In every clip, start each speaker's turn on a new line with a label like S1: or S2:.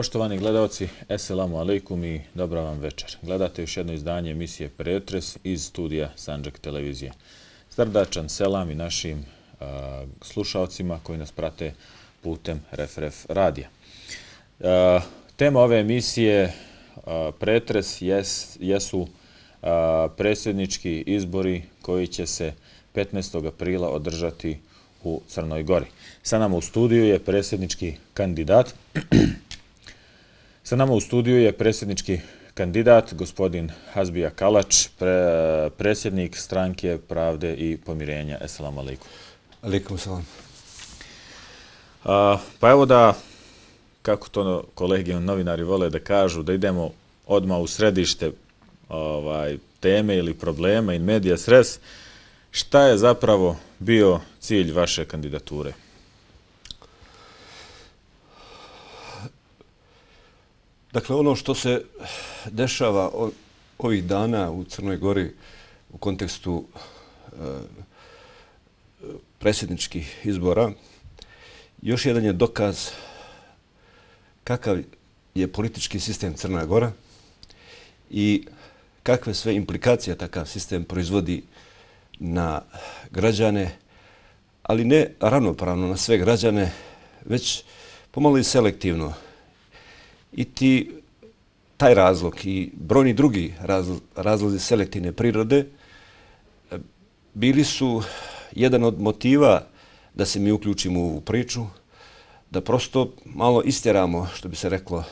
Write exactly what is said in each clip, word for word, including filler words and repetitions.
S1: Poštovani gledalci, eselamu alejkum i dobra vam večer. Gledate još jedno izdanje emisije Pretres iz studija Sandžak televizije. Srdačan selam i našim a, slušalcima koji nas prate putem Ref-Ref radija. A, tema ove emisije a, Pretres jes, jesu a, predsjednički izbori koji će se petnaestog aprila održati u Crnoj Gori. Sa nama u studiju je predsjednički kandidat Sa nama u studiju je predsjednički kandidat, gospodin Hazbija Kalač, pre, predsjednik Stranke Pravde i Pomirenja. Esselamu alaikum.
S2: Alaikum salam.
S1: A, pa evo da, kako to kolege novinari vole da kažu, da idemo odmah u središte ovaj, teme ili problema in medias res. Šta je zapravo bio cilj vaše kandidature?
S2: Dakle, ono što se dešava ovih dana u Crnoj Gori u kontekstu e, predsjedničkih izbora, još jedan je dokaz kakav je politički sistem Crna Gora i kakve sve implikacije takav sistem proizvodi na građane, ali ne ravnopravno na sve građane, već pomalo i selektivno. I ti, taj razlog i brojni drugi razlo, razlozi selektivne prirode bili su jedan od motiva da se mi uključimo u priču, da prosto malo istjeramo, što bi se reklo,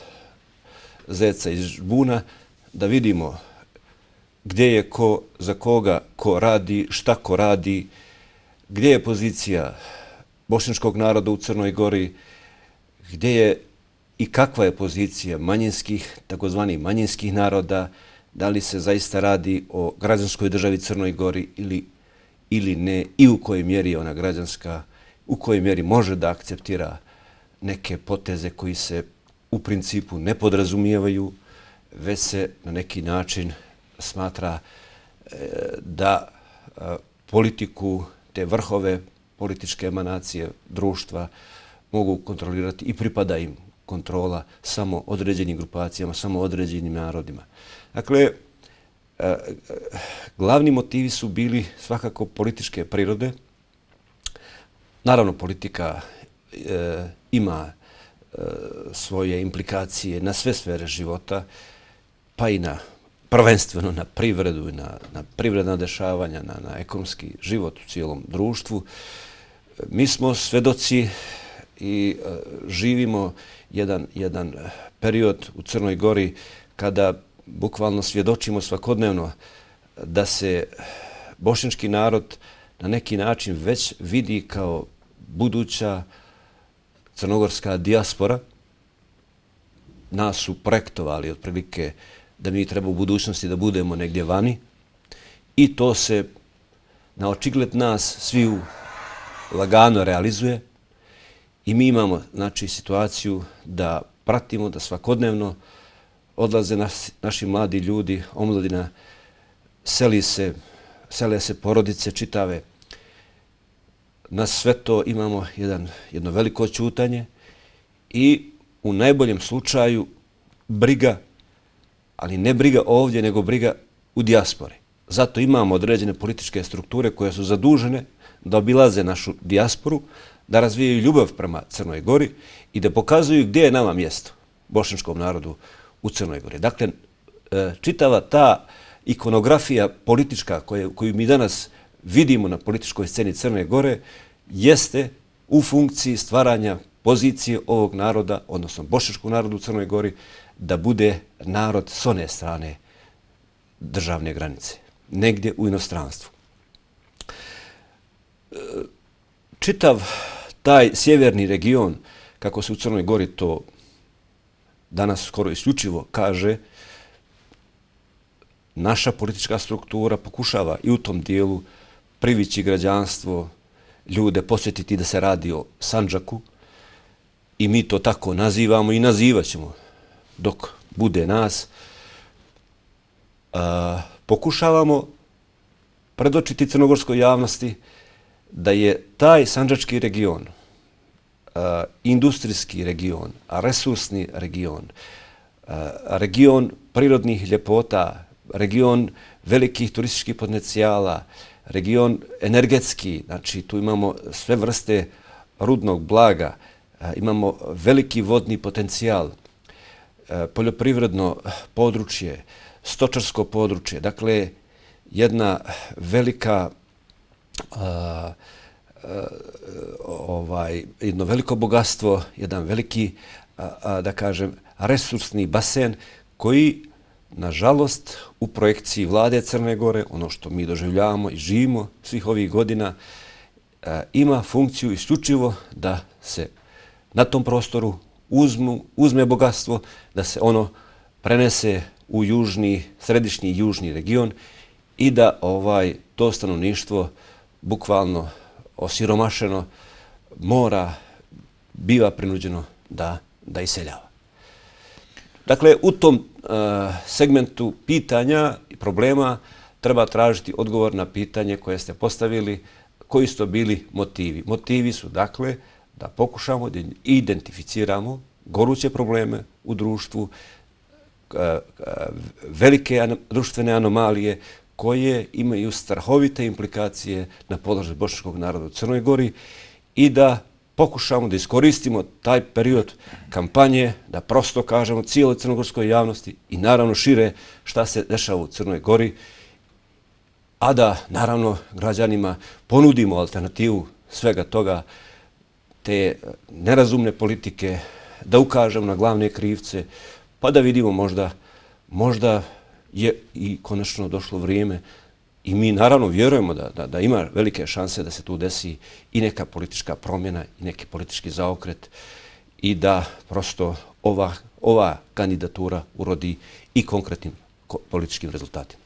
S2: zeca iz žbuna, da vidimo gdje je ko, za koga ko radi, šta ko radi, gdje je pozicija bošnjačkog naroda u Crnoj Gori, gdje je i kakva je pozicija manjinskih, takozvanih manjinskih naroda, da li se zaista radi o građanskoj državi Crnoj Gori ili, ili ne, i u kojoj mjeri je ona građanska, u kojoj mjeri može da akceptira neke poteze koji se u principu ne podrazumijevaju, već se na neki način smatra e, da e, politiku, te vrhove političke emanacije društva mogu kontrolirati i pripada im kontrola samo određenim grupacijama, samo određenim narodima. Dakle, e, glavni motivi su bili svakako političke prirode. Naravno, politika e, ima e, svoje implikacije na sve sfere života, pa i na prvenstveno na privredu, na, na privredna dešavanja, na, na ekonomski život u cijelom društvu. Mi smo svedoci i e, živimo jedan, jedan period u Crnoj Gori kada bukvalno svjedočimo svakodnevno da se bošnjački narod na neki način već vidi kao buduća crnogorska dijaspora. Nas su projektovali otprilike da mi treba u budućnosti da budemo negdje vani i to se na očigled nas sviju lagano realizuje. I mi imamo, znači, situaciju da pratimo, da svakodnevno odlaze nas, naši mladi ljudi, omladina, seli se, sele se porodice čitave. Na sve to imamo jedan, jedno veliko ćutanje i u najboljem slučaju briga, ali ne briga ovdje, nego briga u dijaspori. Zato imamo određene političke strukture koje su zadužene da obilaze našu dijasporu, da razvijaju ljubav prema Crnoj Gori i da pokazuju gdje je nama mjesto, bošnjačkom narodu u Crnoj Gori. Dakle, čitava ta ikonografija politička koju, koju mi danas vidimo na političkoj sceni Crne Gore jeste u funkciji stvaranja pozicije ovog naroda, odnosno bošnjačkog naroda u Crnoj Gori, da bude narod s one strane državne granice, negdje u inostranstvu. Čitav taj sjeverni region, kako se u Crnoj Gori to danas skoro isključivo kaže, naša politička struktura pokušava i u tom dijelu privići građanstvo, ljude posjetiti da se radi o Sandžaku i mi to tako nazivamo i nazivat ćemo dok bude nas, a, pokušavamo predočiti crnogorskoj javnosti da je taj sandžački region, a, industrijski region, resursni region, a, region prirodnih ljepota, region velikih turističkih potencijala, region energetski, znači tu imamo sve vrste rudnog blaga, imamo veliki vodni potencijal, poljoprivredno područje, stočarsko područje, dakle jedna velika, a, a, ovaj, jedno veliko bogatstvo, jedan veliki, a, a, da kažem, resursni basen koji, nažalost, u projekciji vlade Crne Gore, ono što mi doživljavamo i živimo svih ovih godina, a, ima funkciju isključivo da se na tom prostoru uzmu, uzme bogatstvo, da se ono prenese u južni, središnji i južni region i da ovaj to stanovništvo bukvalno osiromašeno mora, biva prinuđeno da, da iseljava. Dakle, u tom uh, segmentu pitanja i problema treba tražiti odgovor na pitanje koje ste postavili, koji su to bili motivi. Motivi su, dakle, da pokušamo da identificiramo goruće probleme u društvu, velike društvene anomalije koje imaju strahovite implikacije na položaj bošnjačkog naroda u Crnoj Gori i da pokušamo da iskoristimo taj period kampanje, da prosto kažemo cijeloj crnogorskoj javnosti i naravno šire šta se dešava u Crnoj Gori, a da naravno građanima ponudimo alternativu svega toga, te nerazumne politike, da ukažemo na glavne krivce, pa da vidimo možda, možda je i konačno došlo vrijeme i mi naravno vjerujemo da, da, da ima velike šanse da se tu desi i neka politička promjena i neki politički zaokret i da prosto ova, ova kandidatura urodi i konkretnim političkim rezultatima.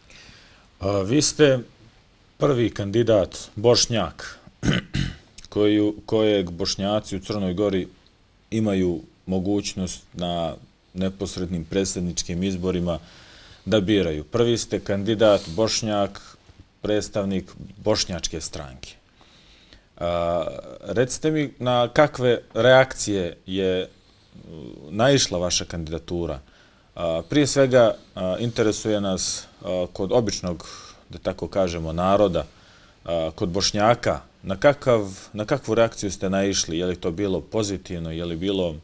S1: A, vi ste prvi kandidat Bošnjak koju, kojeg Bošnjaci u Crnoj Gori imaju mogućnost na neposrednim predsjedničkim izborima da biraju. Prvi ste kandidat Bošnjak, predstavnik bošnjačke stranke. A, recite mi na kakve reakcije je naišla vaša kandidatura. A, prije svega a, interesuje nas a, kod običnog, da tako kažemo, naroda, a, kod Bošnjaka, na, kakav, na kakvu reakciju ste naišli? Je li to bilo pozitivno, je li bilo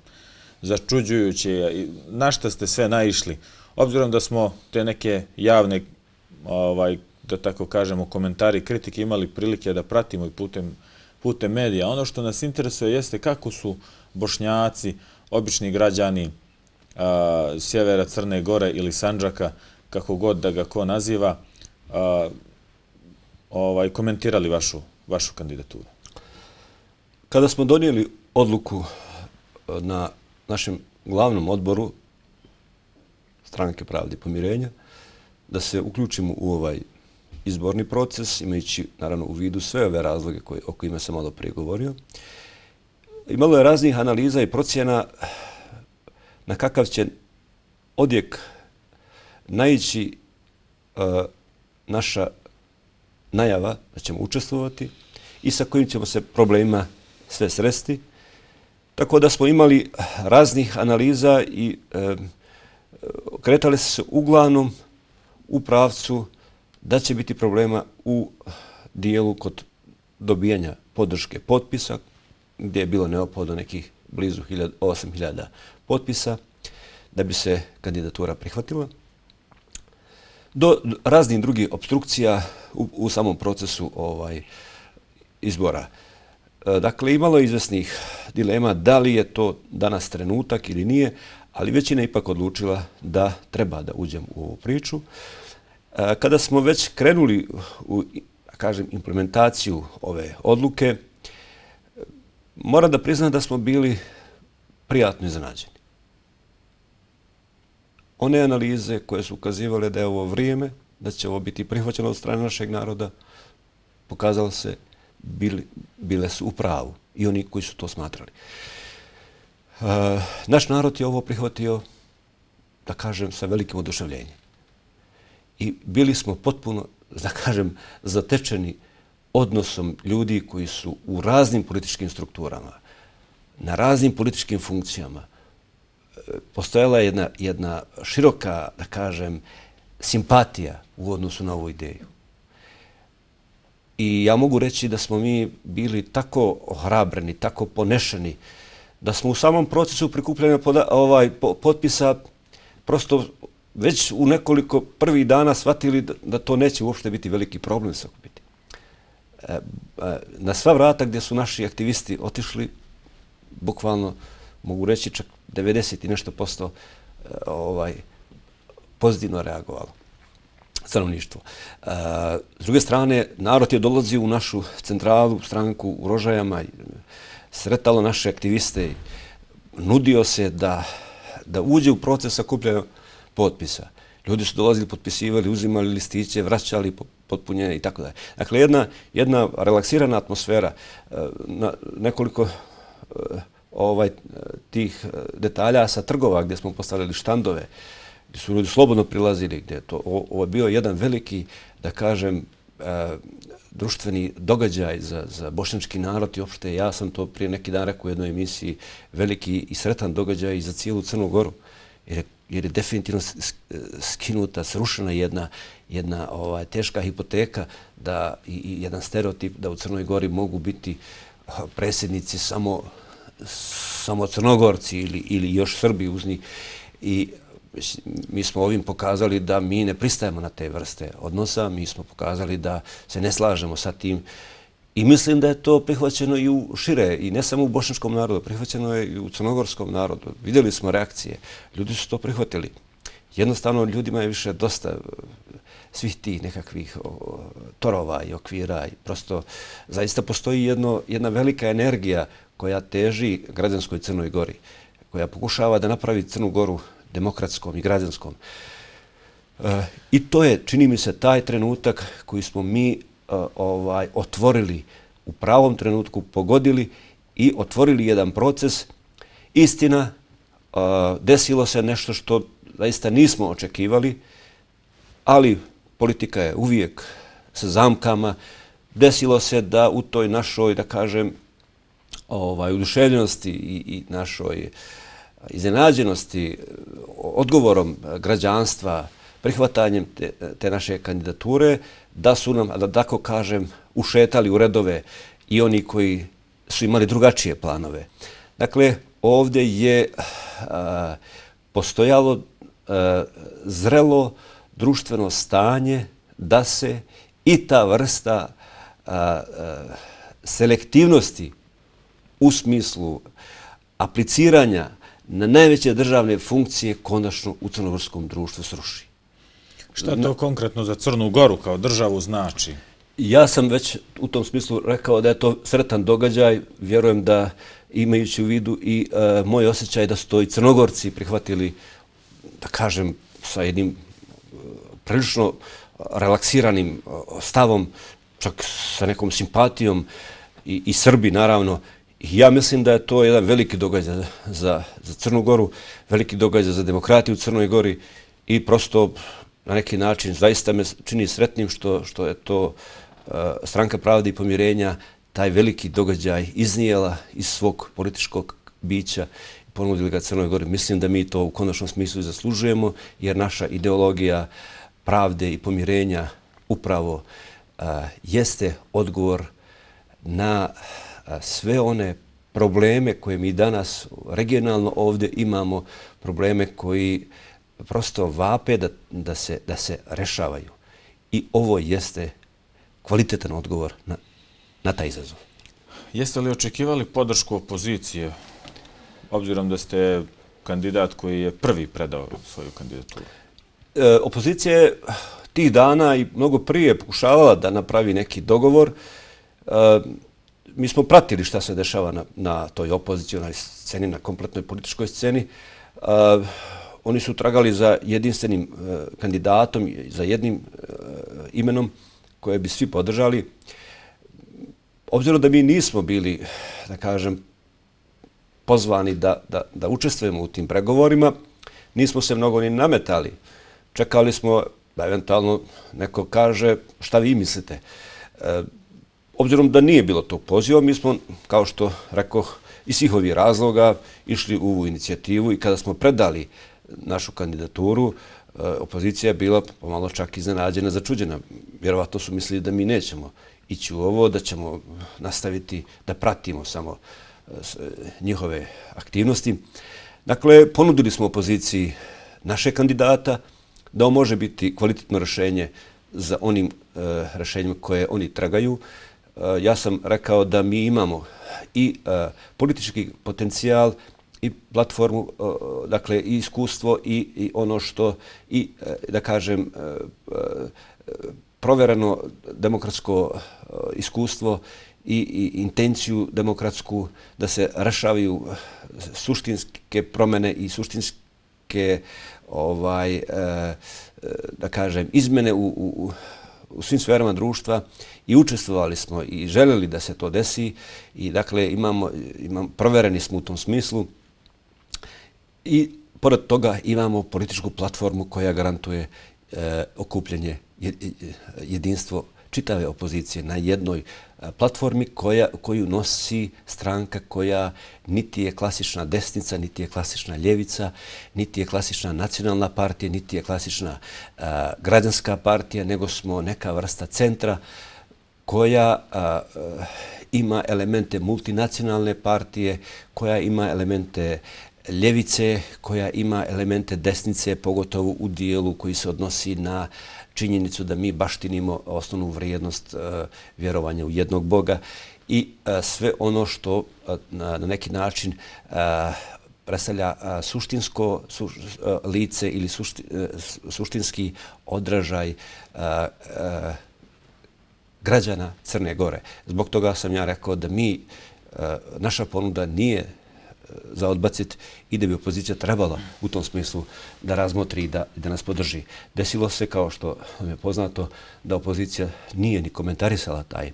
S1: začuđujuće, na šta ste sve naišli? Obzirom da smo te neke javne, ovaj, da tako kažemo, komentari, kritike imali prilike da pratimo i putem, putem medija. Ono što nas interesuje jeste kako su Bošnjaci, obični građani a, sjevera Crne Gore ili Sandžaka, kako god da ga ko naziva, a, ovaj, komentirali vašu, vašu kandidaturu.
S2: Kada smo donijeli odluku na našem glavnom odboru Stranke pravde i pomirenja da se uključimo u ovaj izborni proces, imajući naravno u vidu sve ove razloge koje, o kojima sam malo prije govorio. Imalo je raznih analiza i procjena na kakav će odjek naići uh, naša najava da ćemo učestvovati i sa kojim ćemo se problemima sve sresti. Tako da smo imali raznih analiza i e, kretali se uglavnom u pravcu da će biti problema u dijelu kod dobijanja podrške potpisa, gdje je bilo neophodno nekih blizu osam hiljada potpisa da bi se kandidatura prihvatila, do raznih drugih obstrukcija u, u samom procesu ovaj izbora. Dakle, imalo je izvesnih dilema da li je to danas trenutak ili nije, ali većina je ipak odlučila da treba da uđem u ovu priču. Kada smo već krenuli u, kažem, implementaciju ove odluke, moram da priznam da smo bili prijatno iznenađeni. One analize koje su ukazivale da je ovo vrijeme, da će ovo biti prihvaćeno od strane našeg naroda, pokazalo se bili, bile su u pravu i oni koji su to smatrali. naš narod je ovo prihvatio, da kažem, sa velikim oduševljenjem. I bili smo potpuno, da kažem, zatečeni odnosom ljudi koji su u raznim političkim strukturama, na raznim političkim funkcijama. Postojala je jedna, jedna široka, da kažem, simpatija u odnosu na ovu ideju. I ja mogu reći da smo mi bili tako ohrabreni, tako ponešeni, da smo u samom procesu prikupljanja ovaj, potpisa prosto već u nekoliko prvih dana shvatili da, da to neće uopšte biti veliki problem sakupiti. E, na sva vrata gdje su naši aktivisti otišli, bukvalno mogu reći čak devedeset i nešto posto ovaj, pozitivno reagovalo stanovništvo. E, s druge strane, narod je dolazio u našu centralu, stranku u Rožajama, sretalo naše aktiviste, nudio se da, da uđe u proces sakupljanja potpisa. Ljudi su dolazili, potpisivali, uzimali listiće, vraćali potpunjenje i tako dalje. Dakle, jedna, jedna relaksirana atmosfera, na nekoliko ovaj, tih detalja sa trgova gdje smo postavili štandove, gdje su ljudi slobodno prilazili, gdje je to, ovo je bio jedan veliki, da kažem, društveni događaj za, za bošnjački narod i opšte, ja sam to prije neki dan rekao u jednoj emisiji, veliki i sretan događaj i za cijelu Crnu Goru, jer je, jer je definitivno skinuta, srušena jedna, jedna ovaj, teška hipoteka da, i, i jedan stereotip da u Crnoj Gori mogu biti predsjednici samo, samo Crnogorci ili, ili još Srbi uz njih. I mi smo ovim pokazali da mi ne pristajemo na te vrste odnosa, mi smo pokazali da se ne slažemo sa tim i mislim da je to prihvaćeno i u šire, i ne samo u bošnjačkom narodu, prihvaćeno je i u crnogorskom narodu. Vidjeli smo reakcije, ljudi su to prihvatili. Jednostavno ljudima je više dosta svih tih nekakvih o, torova i okvira i prosto zaista postoji jedno, jedna velika energija koja teži građanskoj Crnoj Gori, koja pokušava da napravi Crnu Goru demokratskom i građanskom. E, I to je, čini mi se, taj trenutak koji smo mi e, ovaj, otvorili u pravom trenutku, pogodili i otvorili jedan proces. Istina, e, desilo se nešto što zaista nismo očekivali, ali politika je uvijek sa zamkama. Desilo se da u toj našoj, da kažem, ovaj, oduševljenosti i, i našoj iznenađenosti odgovorom građanstva, prihvatanjem te, te naše kandidature, da su nam, da tako kažem, ušetali u redove i oni koji su imali drugačije planove. Dakle, ovdje je a, postojalo a, zrelo društveno stanje da se i ta vrsta a, a, selektivnosti u smislu apliciranja na najveće državne funkcije konačno u crnogorskom društvu sruši.
S1: Šta to konkretno za Crnu Goru kao državu znači?
S2: Ja sam već u tom smislu rekao da je to sretan događaj. Vjerujem da imajući u vidu i e, moj osjećaj da su to i Crnogorci prihvatili, da kažem, sa jednim e, prilično relaksiranim stavom, čak sa nekom simpatijom i, i Srbi naravno. Ja mislim da je to jedan veliki događaj za, za Crnu Goru, veliki događaj za demokratiju u Crnoj Gori i prosto na neki način zaista me čini sretnim što, što je to uh, Stranka pravde i pomirenja taj veliki događaj iznijela iz svog političkog bića i ponudili ga Crnoj Gori. Mislim da mi to u konačnom smislu i zaslužujemo jer naša ideologija pravde i pomirenja upravo uh, jeste odgovor na sve one probleme koje mi danas regionalno ovdje imamo, probleme koji prosto vape da, da, se, da se rešavaju. I ovo jeste kvalitetan odgovor na, na taj izazov.
S1: Jeste li očekivali podršku opozicije, obzirom da ste kandidat koji je prvi predao svoju kandidaturu?
S2: E, opozicija je tih dana i mnogo prije pokušavala da napravi neki dogovor. E, Mi smo pratili šta se dešava na, na toj opozicionalnoj sceni, na kompletnoj političkoj sceni. Uh, oni su tragali za jedinstvenim uh, kandidatom, za jednim uh, imenom koje bi svi podržali. Obzirom da mi nismo bili, da kažem, pozvani da, da, da učestvujemo u tim pregovorima, nismo se mnogo ni nametali. Čekali smo da eventualno neko kaže šta vi mislite. E, obzirom da nije bilo tog poziva, mi smo, kao što rekoh, iz svih ovih razloga išli u ovu inicijativu i kada smo predali našu kandidaturu, e, opozicija je bila pomalo čak iznenađena, začuđena. Vjerovatno su mislili da mi nećemo ići u ovo, da ćemo nastaviti da pratimo samo e, njihove aktivnosti. Dakle, ponudili smo opoziciji naše kandidata, da on može biti kvalitetno rješenje za onim e, rješenjima koje oni tragaju. E, ja sam rekao da mi imamo i e, politički potencijal i platformu, e, dakle i iskustvo i, i ono što, i e, da kažem, e, e, provjereno demokratsko e, iskustvo i, i intenciju demokratsku da se rešavaju suštinske promjene i suštinske ovaj, e, da kažem, izmene u, u, u svim sferama društva i učestvovali smo i željeli da se to desi i dakle imamo, imamo, provjereni smo u tom smislu i pored toga imamo političku platformu koja garantuje e, okupljenje, jedinstvo čitave opozicije na jednoj platformi koja, koju nosi stranka koja niti je klasična desnica, niti je klasična ljevica, niti je klasična nacionalna partija, niti je klasična a, građanska partija, nego smo neka vrsta centra koja a, a, ima elemente multinacionalne partije, koja ima elemente ljevice, koja ima elemente desnice, pogotovo u dijelu koji se odnosi na činjenicu da mi baštinimo osnovnu vrijednost uh, vjerovanja u jednog Boga i uh, sve ono što uh, na, na neki način uh, predstavlja uh, suštinsko su, uh, lice ili sušti, uh, suštinski odražaj uh, uh, građana Crne Gore. Zbog toga sam ja rekao da mi, uh, naša ponuda nije za odbaciti i da bi opozicija trebala u tom smislu da razmotri i da, da nas podrži. Desilo se, kao što je poznato, da opozicija nije ni komentarisala taj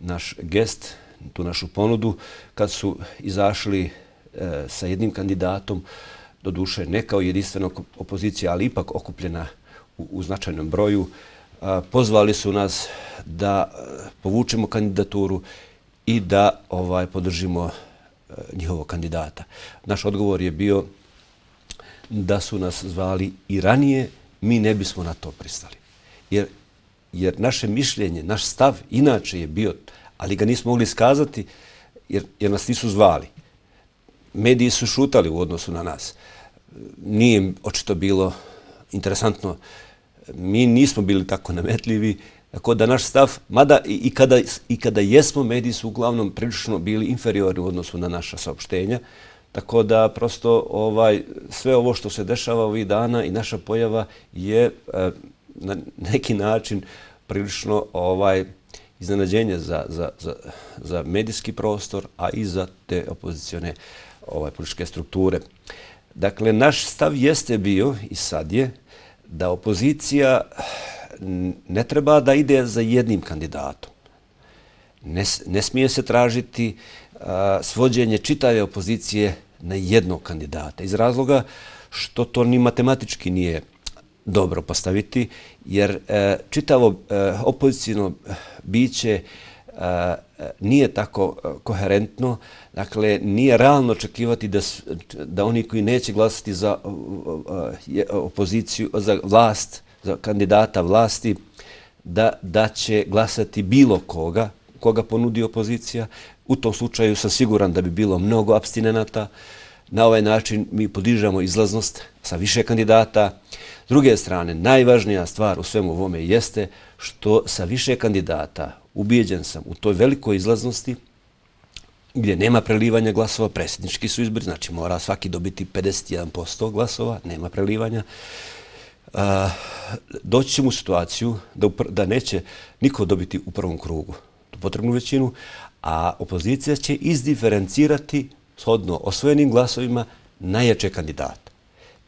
S2: naš gest, tu našu ponudu, kad su izašli e, sa jednim kandidatom, doduše ne kao jedinstvena opozicija, ali ipak okupljena u, u značajnom broju, a, pozvali su nas da povučemo kandidaturu i da ovaj podržimo njihovog kandidata. Naš odgovor je bio da su nas zvali i ranije, mi ne bismo na to pristali. Jer, jer naše mišljenje, naš stav inače je bio, ali ga nismo mogli skazati jer, jer nas nisu zvali. Mediji su šutali u odnosu na nas. Nije očito bilo interesantno. Mi nismo bili tako nametljivi. Tako da naš stav, mada i, i, kada, i kada jesmo, mediji su uglavnom prilično bili inferiorni u odnosu na naša saopštenja. Tako da prosto ovaj, sve ovo što se dešava ovih dana i naša pojava je e, na neki način prilično ovaj, iznenađenje za, za, za, za medijski prostor, a i za te opozicione ovaj, političke strukture. Dakle, naš stav jeste bio i sad je da opozicija ne treba da ide za jednim kandidatom. Ne, ne smije se tražiti a, svođenje čitave opozicije na jednog kandidata. Iz razloga što to ni matematički nije dobro postaviti, jer e, čitavo e, opozicijno biće e, nije tako koherentno, dakle nije realno očekivati da, da oni koji neće glasati za e, opoziciju, za vlast, za kandidata vlasti, da, da će glasati bilo koga, koga ponudi opozicija. U tom slučaju sam siguran da bi bilo mnogo apstinenata. Na ovaj način mi podižamo izlaznost sa više kandidata. S druge strane, najvažnija stvar u svemu ovome jeste što sa više kandidata, ubijeđen sam u toj velikoj izlaznosti, gdje nema prelivanja glasova, predsjednički su izbori, znači mora svaki dobiti pedeset jedan posto glasova, nema prelivanja. Uh, doći ćemo u situaciju da, da neće niko dobiti u prvom krugu tu potrebnu većinu, a opozicija će izdiferencirati shodno osvojenim glasovima najjače kandidata.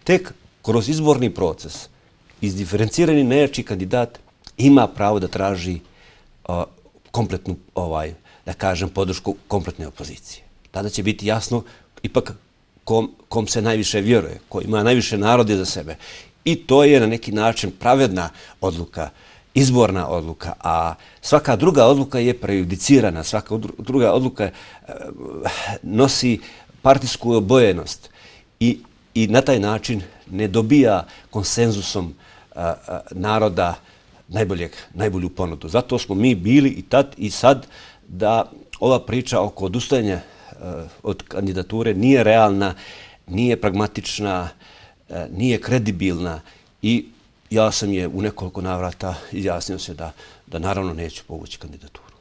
S2: Tek kroz izborni proces izdiferencirani najjači kandidat ima pravo da traži uh, kompletnu, ovaj, da kažem, podršku kompletne opozicije. Tada će biti jasno ipak kom, kom se najviše vjeruje, ko ima najviše narode za sebe. I to je na neki način pravedna odluka, izborna odluka, a svaka druga odluka je prejudicirana, svaka druga odluka nosi partijsku obojenost i, i na taj način ne dobija konsenzusom a, a, naroda najboljeg, najbolju ponudu. Zato smo mi bili i tad i sad da ova priča oko odustajanja a, od kandidature nije realna, nije pragmatična, a, nije kredibilna i ja sam je u nekoliko navrata izjasnio se da, da naravno neću povući kandidaturu.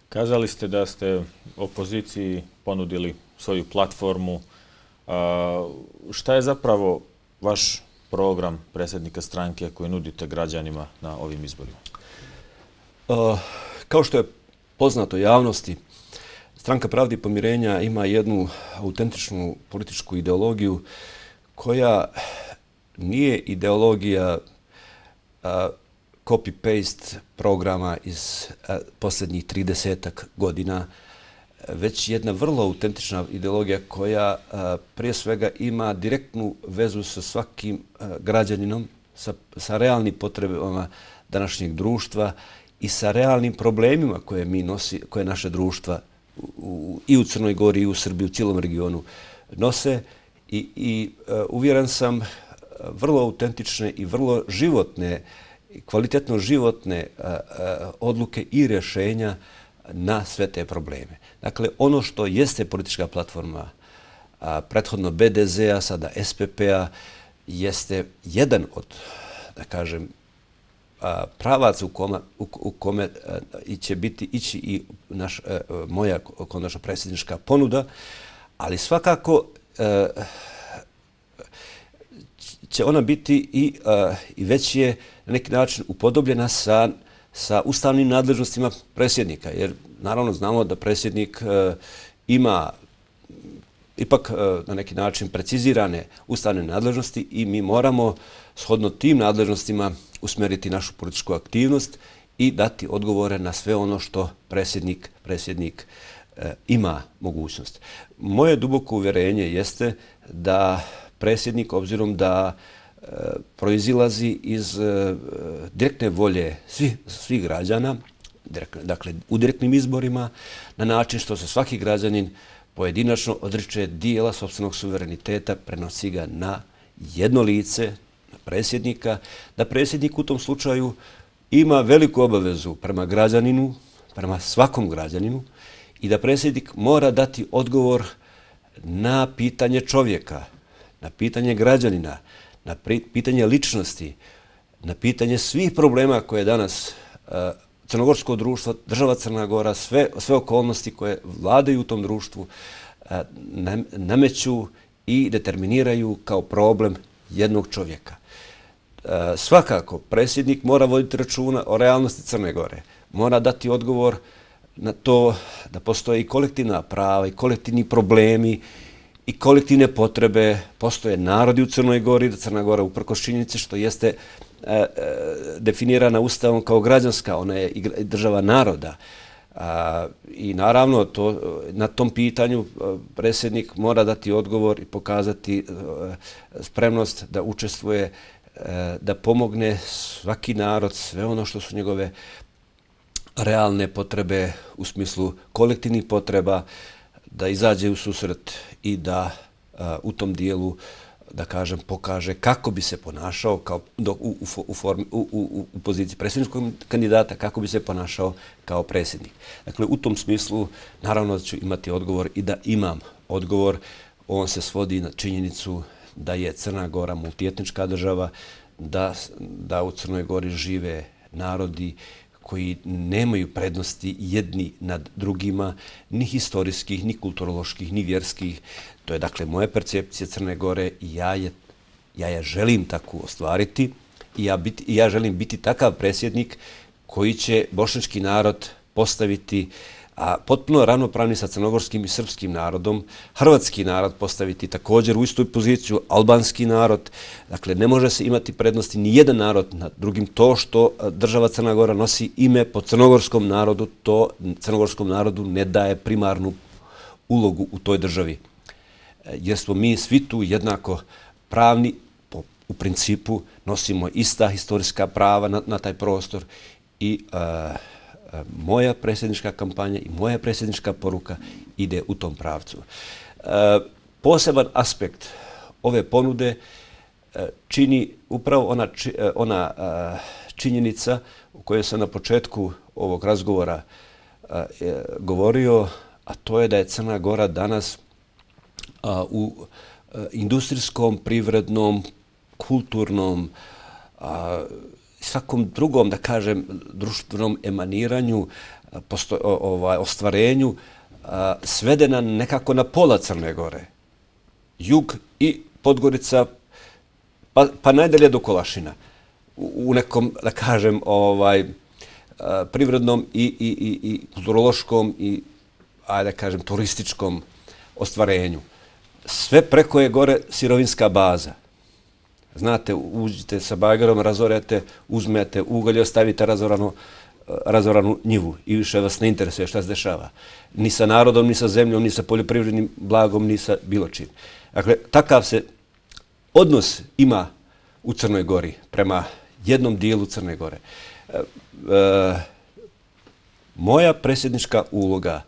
S1: Kazali ste da ste opoziciji ponudili svoju platformu. A, šta je zapravo vaš program predsjednika stranke koji nudite građanima na ovim izborima?
S2: A, kao što je poznato javnosti, Stranka pravde i pomirenja ima jednu autentičnu političku ideologiju koja nije ideologija copy-paste programa iz a, posljednjih tridesetak godina, već jedna vrlo autentična ideologija koja a, prije svega ima direktnu vezu sa svakim a, građaninom, sa, sa realnim potrebama današnjeg društva i sa realnim problemima koje mi nosi, koje naše društva u, u, i u Crnoj Gori i u Srbiji, u cijelom regionu nose i, i a, uvjeren sam vrlo autentične i vrlo životne, kvalitetno životne a, a, odluke i rješenja na sve te probleme. Dakle, ono što jeste politička platforma a, prethodno B D Z-a, sada S P P-a, jeste jedan od, da kažem, a, pravaca u kome, u, u kome a, će biti ići i naš, a, moja konačna predsjednička ponuda, ali svakako a, će ona biti i, uh, i već je na neki način upodobljena sa, sa ustavnim nadležnostima predsjednika. Jer naravno znamo da predsjednik uh, ima ipak uh, na neki način precizirane ustavne nadležnosti i mi moramo shodno tim nadležnostima usmjeriti našu političku aktivnost i dati odgovore na sve ono što predsjednik, predsjednik uh, ima mogućnost. Moje duboko uvjerenje jeste da predsjednik, obzirom da e, proizilazi iz e, direktne volje svih, svih građana, direktne, dakle u direktnim izborima, na način što se svaki građanin pojedinačno odriče dijela sopstvenog suvereniteta, prenosi ga na jedno lice, na predsjednika, da predsjednik u tom slučaju ima veliku obavezu prema građaninu, prema svakom građaninu i da predsjednik mora dati odgovor na pitanje čovjeka, na pitanje građanina, na pitanje ličnosti, na pitanje svih problema koje danas uh, crnogorsko društvo, država Crna Gora, sve, sve okolnosti koje vladaju u tom društvu uh, nameću i determiniraju kao problem jednog čovjeka. Uh, svakako, predsjednik mora voditi računa o realnosti Crne Gore. Mora dati odgovor na to da postoje i kolektivna prava i kolektivni problemi i kolektivne potrebe, postoje narodi u Crnoj Gori, da Crna Gora uprkos činjenici što jeste e, e, definirana ustavom kao građanska, ona je i država naroda. A, I naravno to, na tom pitanju predsjednik mora dati odgovor i pokazati e, spremnost da učestvuje, e, da pomogne svaki narod, sve ono što su njegove realne potrebe u smislu kolektivnih potreba, da izađe u susret i da a, u tom dijelu, da kažem, pokaže kako bi se ponašao kao, do, u, u, u, formi, u, u, u poziciji predsjedničkog kandidata, kako bi se ponašao kao predsjednik. Dakle, u tom smislu, naravno da ću imati odgovor i da imam odgovor. On se svodi na činjenicu da je Crna Gora multietnička država, da, da u Crnoj Gori žive narodi koji nemaju prednosti jedni nad drugima, ni historijskih, ni kulturoloških, ni vjerskih. To je dakle moja percepcija Crne Gore i ja je, ja je želim tako ostvariti i ja, biti, ja želim biti takav predsjednik koji će bošnjački narod postaviti a potpuno ravnopravni sa crnogorskim i srpskim narodom, hrvatski narod postaviti također u istu poziciju, albanski narod. Dakle, ne može se imati prednosti ni jedan narod nad drugim. To što država Crna Gora nosi ime po crnogorskom narodu, to crnogorskom narodu ne daje primarnu ulogu u toj državi. jer smo mi svi tu jednako pravni, u principu nosimo ista historijska prava na, na taj prostor i uh, moja predsjednička kampanja i moja predsjednička poruka ide u tom pravcu. Uh, poseban aspekt ove ponude uh, čini upravo ona, či, uh, ona uh, činjenica o kojoj sam na početku ovog razgovora uh, govorio, a to je da je Crna Gora danas uh, u uh, industrijskom, privrednom, kulturnom, a, svakom drugom, da kažem, društvenom emaniranju, posto, o, ovaj, ostvarenju, a, svedena nekako na pola Crne Gore. Jug i Podgorica, pa, pa najdalje do Kolašina. U, u nekom, da kažem, ovaj, a, privrednom i, i, i, i kulturološkom i, ajde da kažem, turističkom ostvarenju. Sve preko je gore sirovinska baza. Znate, uđite sa bagarom, razorete, uzmete ugalj i ostavite razoranu, razoranu njivu i više vas ne interesuje šta se dešava. Ni sa narodom, ni sa zemljom, ni sa poljoprivrednim blagom, ni sa bilo čim. Dakle, takav se odnos ima u Crnoj Gori prema jednom dijelu Crne Gore. E, e, moja predsjednička uloga,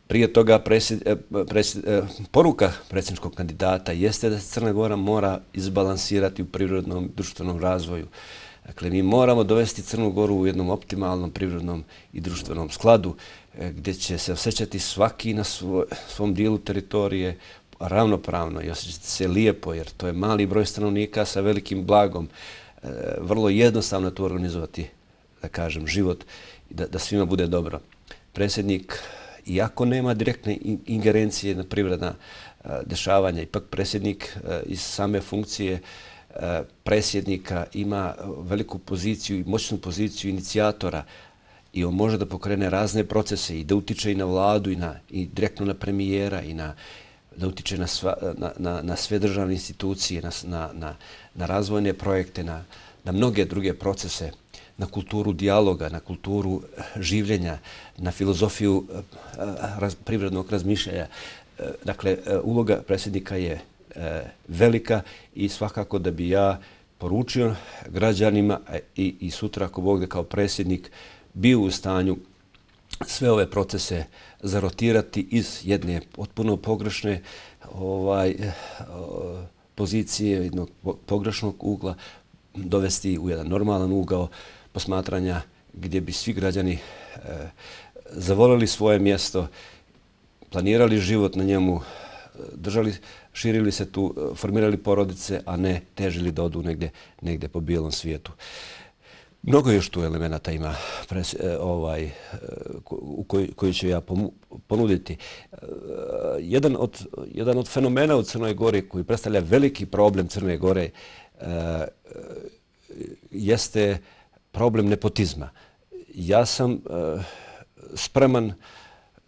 S2: prije toga presjed, presjed, poruka predsjedničkog kandidata jeste da se Crna Gora mora izbalansirati u prirodnom i društvenom razvoju. Dakle, mi moramo dovesti Crnu Goru u jednom optimalnom prirodnom i društvenom skladu gdje će se osjećati svaki na svoj, svom dijelu teritorije ravnopravno i osjećati se lijepo, jer to je mali broj stanovnika sa velikim blagom. Vrlo jednostavno to organizovati, da kažem, život i da, da svima bude dobro. Predsjednik, iako nema direktne ingerencije na privredna uh, dešavanja, ipak predsjednik uh, iz same funkcije uh, predsjednika ima veliku poziciju i moćnu poziciju inicijatora i on može da pokrene razne procese i da utiče i na vladu i, na, i direktno na premijera i na, da utiče na, sva, na, na, na sve državne institucije, na, na, na, na razvojne projekte, na, na mnoge druge procese, na kulturu dijaloga, na kulturu življenja, na filozofiju raz, privrednog razmišljanja. Dakle, uloga predsjednika je velika i svakako da bi ja poručio građanima i, i sutra, ako Bog da kao predsjednik, bio u stanju sve ove procese zarotirati iz jedne potpuno pogrešne ovaj, pozicije, jednog pogrešnog ugla, dovesti u jedan normalan ugao posmatranja gdje bi svi građani e, zavolili svoje mjesto, planirali život na njemu, držali, širili se tu, formirali porodice, a ne težili da odu negdje, negdje po bijelom svijetu. Mnogo još tu elemenata ima pres, e, ovaj, u koji, koji ću ja ponuditi. E, jedan, od, jedan od fenomena u Crnoj Gori koji predstavlja veliki problem Crne Gore e, jeste problem nepotizma. Ja sam e, spreman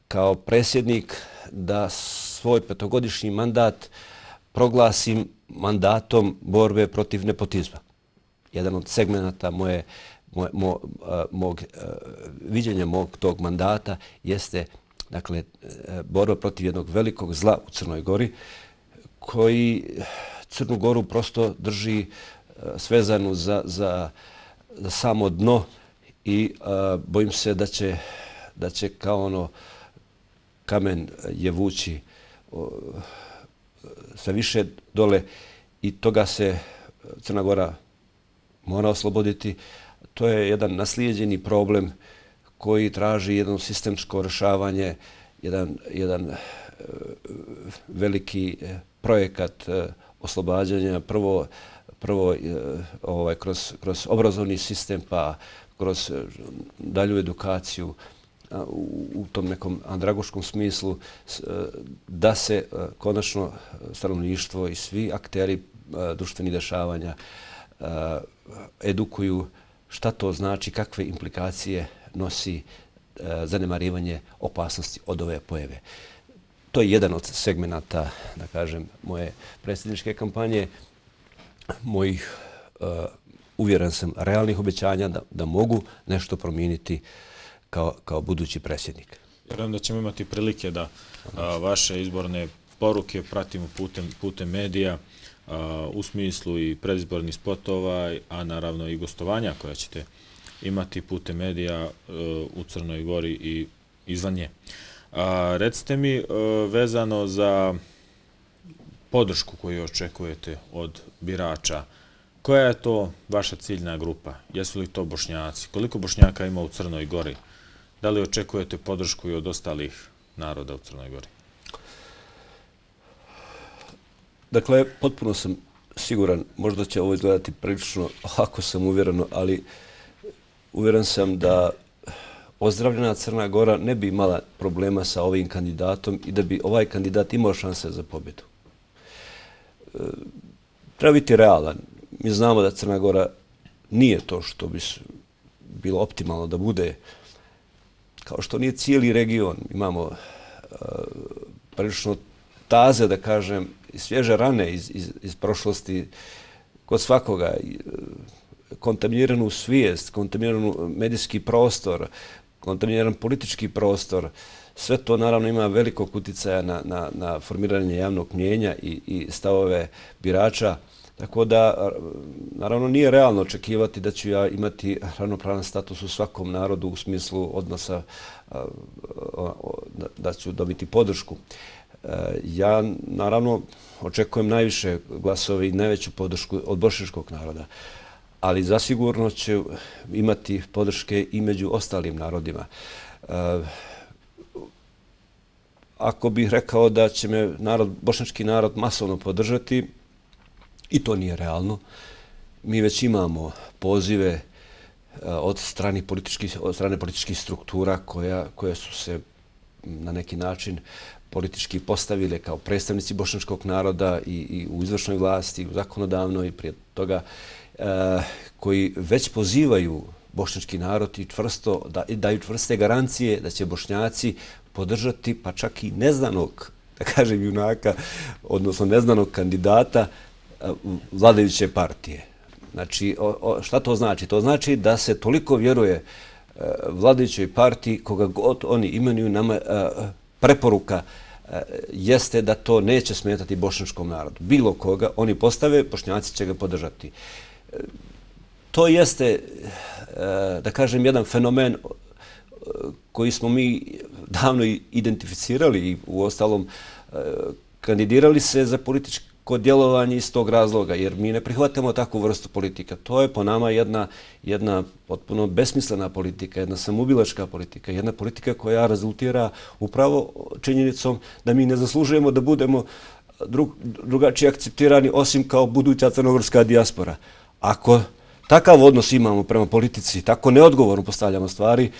S2: kao predsjednik da svoj petogodišnji mandat proglasim mandatom borbe protiv nepotizma. Jedan od segmenata moje, moje, mo, mog viđenja mog tog mandata jeste, dakle, borba protiv jednog velikog zla u Crnoj Gori koji Crnu Goru prosto drži svezanu za, za, za samo dno i uh, bojim se da će, da će kao ono kamen je vući uh, sve više dole i toga se Crna Gora mora osloboditi. To je jedan naslijeđeni problem koji traži jedno sistemsko rješavanje, jedan, jedan uh, veliki projekat uh, oslobađanja, prvo prvo ovaj, kroz, kroz obrazovni sistem, pa kroz dalju edukaciju u, u tom nekom andragoškom smislu, da se konačno stanovništvo i svi akteri društvenih dešavanja edukuju šta to znači, kakve implikacije nosi zanemarivanje opasnosti od ove pojave. To je jedan od segmenata, da kažem, moje predsjedničke kampanje, mojih, uh, uvjeren sam, realnih obećanja da, da mogu nešto promijeniti kao, kao budući predsjednik.
S1: Vjerujem da ćemo imati prilike da uh, vaše izborne poruke pratimo putem medija u smislu i predizbornih spotova, a naravno i gostovanja koja ćete imati putem medija u Crnoj Gori i izvan nje. Recite mi, vezano za podršku koju očekujete od birača, koja je to vaša ciljna grupa? Jesu li to Bošnjaci? Koliko Bošnjaka ima u Crnoj Gori? Da li očekujete podršku i od ostalih naroda u Crnoj Gori?
S2: Dakle, potpuno sam siguran, možda će ovo izgledati prilično, ako sam uvjereno, ali uvjeren sam da ozdravljena Crna Gora ne bi imala problema sa ovim kandidatom i da bi ovaj kandidat imao šanse za pobjedu. Treba biti realan. Mi znamo da Crna Gora nije to što bi bilo optimalno da bude, kao što nije cijeli region. Imamo prilično taze, da kažem, svježe rane iz, iz, iz prošlosti kod svakoga, kontaminiranu svijest, kontaminiranu medijski prostor, kontaminiran politički prostor. Sve to naravno ima velikog uticaja na, na, na formiranje javnog mnijenja i, i stavove birača. Tako da, naravno, nije realno očekivati da ću ja imati ravnopravan status u svakom narodu u smislu odnosa da ću dobiti podršku. Ja, naravno, očekujem najviše glasove i najveću podršku od bošnjačkog naroda, ali zasigurno će imati podrške i među ostalim narodima. Ako bih rekao da će me narod, bošnjački narod masovno podržati, i to nije realno. Mi već imamo pozive od strane političkih, od strane političkih struktura koja, koje su se na neki način politički postavile kao predstavnici bošnjačkog naroda i, i u izvršnoj vlasti, u zakonodavnoj i prije toga, e, koji već pozivaju bošnjački narod i čvrsto, da, daju čvrste garancije da će Bošnjaci podržati pa čak i neznanog, da kažem, junaka, odnosno neznanog kandidata vladajuće partije. Znači, o, o, šta to znači? To znači da se toliko vjeruje e, vladajućoj partiji, koga god oni imenuju, nama e, preporuka e, jeste da to neće smetati bošnjačkom narodu. Bilo koga oni postave, Bošnjaci će ga podržati. E, to jeste, e, da kažem, jedan fenomen koji smo mi davno identificirali i u ostalom e, kandidirali se za politički kod djelovanja iz tog razloga, jer mi ne prihvatamo takvu vrstu politika. To je po nama jedna, jedna potpuno besmislena politika, jedna samubilačka politika, jedna politika koja rezultira upravo činjenicom da mi ne zaslužujemo da budemo drug, drugačije akceptirani osim kao buduća crnogorska dijaspora. Ako takav odnos imamo prema politici, tako neodgovorno postavljamo stvari,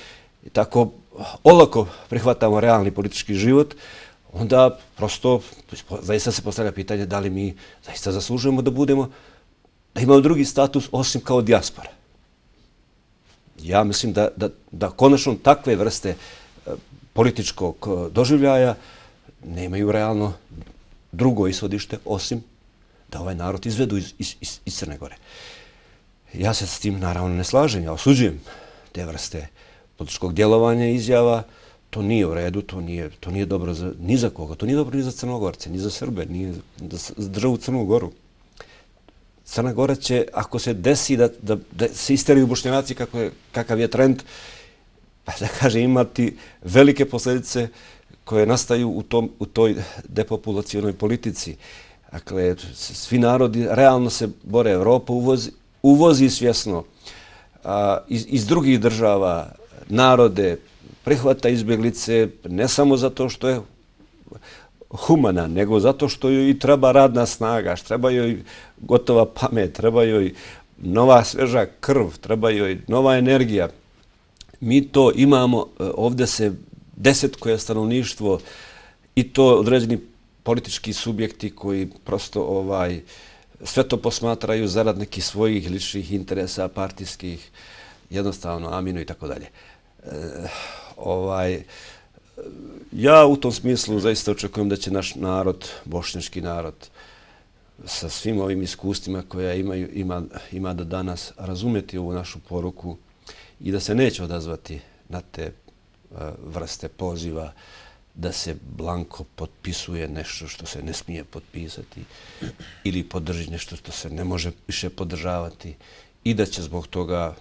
S2: tako olako prihvatamo realni politički život, onda prosto zaista se postavlja pitanje da li mi zaista zaslužujemo da budemo, da imamo drugi status osim kao dijaspora. Ja mislim da, da, da konačno takve vrste političkog doživljaja nemaju realno drugo ishodište osim da ovaj narod izvedu iz, iz, iz, iz Crne Gore. Ja se s tim naravno ne slažem, ja osuđujem te vrste političkog djelovanja i izjava. To nije u redu, to nije, to nije dobro za, ni za koga. To nije dobro ni za Crnogorce, ni za Srbe, ni za državu Crnu Goru. Crna Gora će, ako se desi da, da, da se isteriju Bošnjaci kako je, kakav je trend, pa da kaže imati velike posljedice koje nastaju u, tom, u toj depopulacionoj politici. Dakle, svi narodi realno se bore. Evropa uvozi, uvozi svjesno a, iz, iz drugih država narode, prihvata izbjeglice ne samo zato što je humana, nego zato što joj i treba radna snaga, treba joj gotova pamet, treba joj nova sveža krv, treba joj nova energija. Mi to imamo, ovdje se desetkuje stanovništvo i to određeni politički subjekti koji prosto ovaj sve to posmatraju zarad nekih svojih ličnih interesa, partijskih, jednostavno aminu i tako dalje. Ovaj, ja u tom smislu zaista očekujem da će naš narod, bošnjački narod, sa svim ovim iskustvima koja imaju, ima, ima do danas, razumjeti ovu našu poruku i da se neće odazvati na te uh, vrste poziva da se blanko potpisuje nešto što se ne smije potpisati ili podrži nešto što se ne može više podržavati i da će zbog toga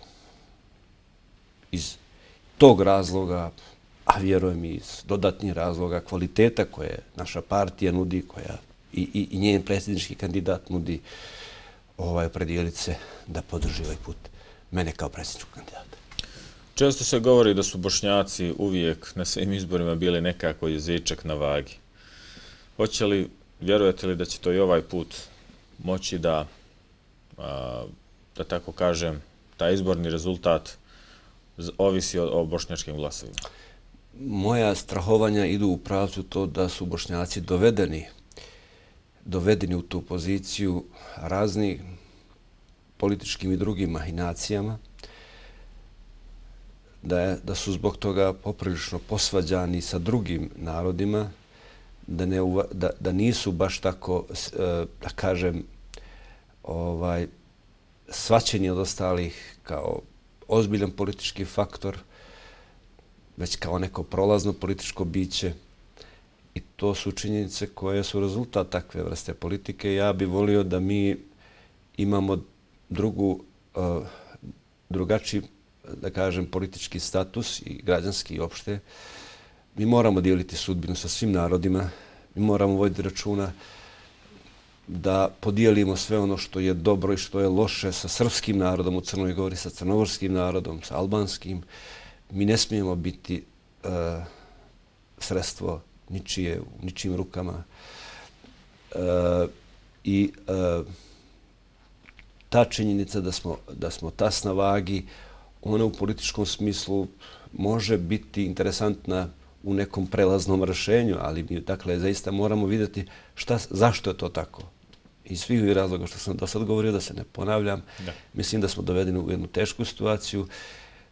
S2: iz tog razloga, a vjerujem i iz dodatnih razloga kvaliteta koje naša partija nudi, koja i, i, i njen predsjednički kandidat nudi, ovaj, opredijeliti se da podrži ovaj put mene kao predsjedničkog kandidata.
S1: Često se govori da su Bošnjaci uvijek na svim izborima bili nekako jezičak na vagi. Hoće li, vjerujete li da će to i ovaj put moći da, a, da tako kažem, taj izborni rezultat ovisi o, o bošnjačkim glasovima?
S2: Moja strahovanja idu u pravcu to da su Bošnjaci dovedeni, dovedeni u tu poziciju raznih političkim i drugim mahinacijama, da, je, da su zbog toga poprilično posvađani sa drugim narodima, da, ne, da, da nisu baš tako, da kažem, ovaj, shvaćeni od ostalih kao ozbiljan politički faktor, već kao neko prolazno političko biće. I to su činjenice koje su rezultat takve vrste politike. Ja bih volio da mi imamo drugu, uh, drugačiji, da kažem, politički status i građanski i opšte. Mi moramo dijeliti sudbinu sa svim narodima. Mi moramo voditi računa da podijelimo sve ono što je dobro i što je loše sa srpskim narodom u Crnoj Gori, sa crnogorskim narodom, sa albanskim. Mi ne smijemo biti uh, sredstvo ničije, u ničijim rukama. Uh, I uh, ta činjenica da smo, da smo tas na vagi, ona u političkom smislu može biti interesantna u nekom prelaznom rješenju, ali mi, dakle, zaista moramo vidjeti šta, zašto je to tako. Iz svih ovih razloga što sam do sad govorio, da se ne ponavljam, da. Mislim da smo dovedeni u jednu tešku situaciju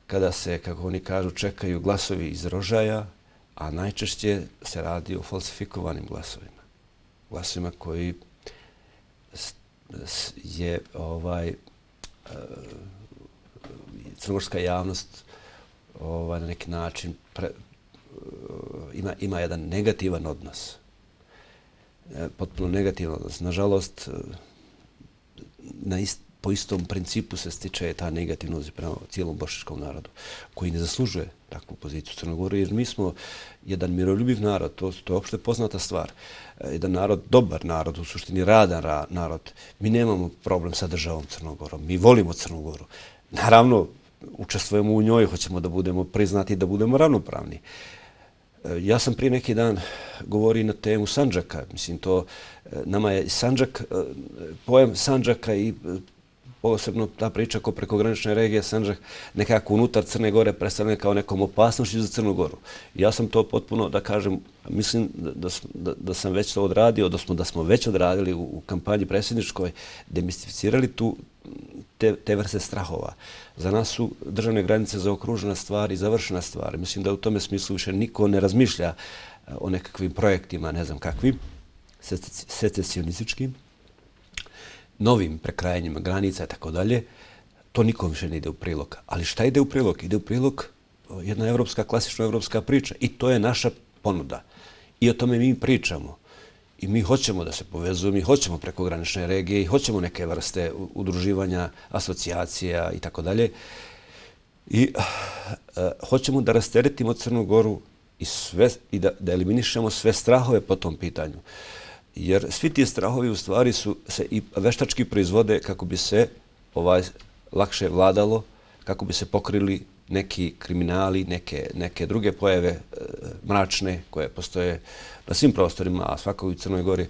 S2: kada se, kako oni kažu, čekaju glasovi iz rožaja, a najčešće se radi o falsifikovanim glasovima. Glasovima koji je ovaj, crnogorska javnost ovaj, na neki način pre, ima, ima jedan negativan odnos. Potpuno negativan odnos. Nažalost, na ist, po istom principu se stiče ta negativnost prema cijelom bošnjačkom narodu, koji ne zaslužuje takvu poziciju u Crnoj Gori, jer mi smo jedan miroljubiv narod, to, to je opšte poznata stvar. Jedan narod, dobar narod, u suštini radan ra, narod. Mi nemamo problem sa državom Crnom Gorom, mi volimo Crnu Goru. Naravno, učestvujemo u njoj, hoćemo da budemo priznati, da budemo ravnopravni. Ja sam prije neki dan govorio na temu Sandžaka. Mislim, to nama je Sandžak, pojam Sandžaka i posebno ta priča oko prekogranične regije Sandžak nekako unutar Crne Gore predstavljena kao nekom opasnošću za Crnu Goru. Ja sam to potpuno, da kažem, mislim da, da, da sam već to odradio, da smo, da smo već odradili u, u kampanji predsjedničkoj, demistificirali tu te, te vrste strahova. Za nas su državne granice zaokružena stvar i završena stvar. Mislim da u tome smislu više niko ne razmišlja o nekakvim projektima, ne znam kakvim, secesionističkim, novim prekrajanjima granica i tako dalje. To nikom više ne ide u prilog. Ali šta ide u prilog? Ide u prilog jedna evropska, klasična evropska priča. I to je naša ponuda. I o tome mi pričamo. I mi hoćemo da se povezujemo, mi hoćemo prekogranične regije i hoćemo neke vrste udruživanja, asocijacija i tako dalje. I uh, hoćemo da rasteretimo Crnu Goru i, sve, i da, da eliminišemo sve strahove po tom pitanju. Jer svi ti strahovi u stvari su se i veštački proizvode kako bi se ovaj lakše vladalo, kako bi se pokrili neki kriminali, neke, neke druge pojave e, mračne koje postoje na svim prostorima, a svakako i u Crnoj Gori.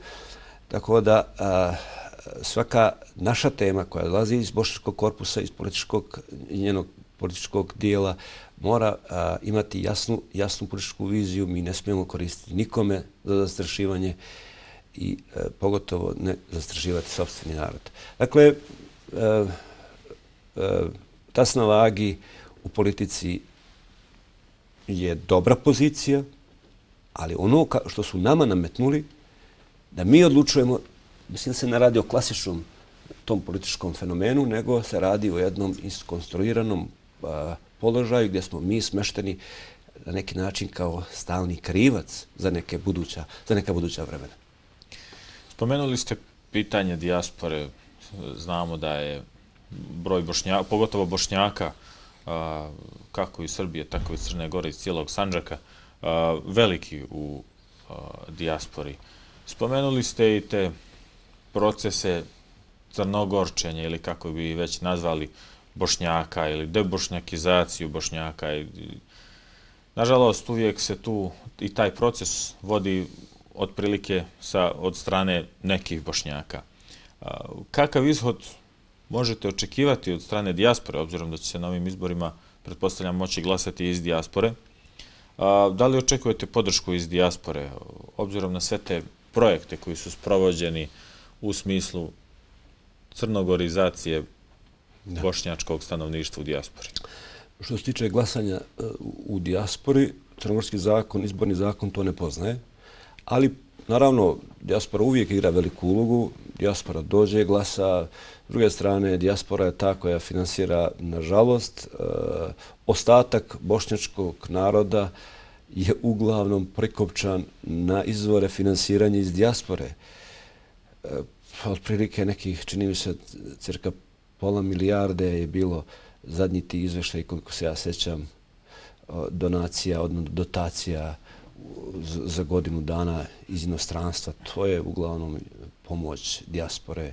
S2: Tako da a, svaka naša tema koja dolazi iz bošnjačkog korpusa, iz političkog i njenog političkog dijela, mora a, imati jasnu, jasnu političku viziju. Mi ne smijemo koristiti nikome za zastrašivanje i e, pogotovo ne zastrašivati sopstveni narod. Dakle, e, e, tas na vagi u politici je dobra pozicija, ali ono što su nama nametnuli, da mi odlučujemo, mislim da se ne radi o klasičnom tom političkom fenomenu, nego se radi o jednom iskonstruiranom a, položaju gdje smo mi smešteni na neki način kao stalni krivac za neke buduća, za neka buduća vremena.
S1: Spomenuli ste pitanje dijaspore. Znamo da je broj Bošnjaka, pogotovo Bošnjaka, kako iz Srbije, tako i iz Crne Gore, iz cijelog Sandžaka, veliki u dijaspori. Spomenuli ste i te procese crnogorčenja ili kako bi već nazvali Bošnjaka ili debošnjakizaciju Bošnjaka. Nažalost, uvijek se tu i taj proces vodi otprilike od strane nekih Bošnjaka. Kakav ishod možete očekivati od strane dijaspore, obzirom da će se na ovim izborima, pretpostavljam, moći glasati iz dijaspore? Da li očekujete podršku iz dijaspore, obzirom na sve te projekte koji su sprovođeni u smislu crnogorizacije bošnjačkog stanovništva u dijaspori?
S2: Što se tiče glasanja u dijaspori, crnogorski zakon, izborni zakon to ne poznaje, ali naravno dijaspora uvijek igra veliku ulogu, dijaspora dođe, glasa, s druge strane dijaspora je ta koja finansira, nažalost, ostatak bošnjačkog naroda je uglavnom prikopčan na izvore finansiranja iz dijaspore. Otprilike nekih, čini mi se, cirka pola milijarde je bilo zadnji ti izveštaj, koliko se ja sećam, donacija, odnosno dotacija za godinu dana iz inostranstva. To je uglavnom pomoć dijaspore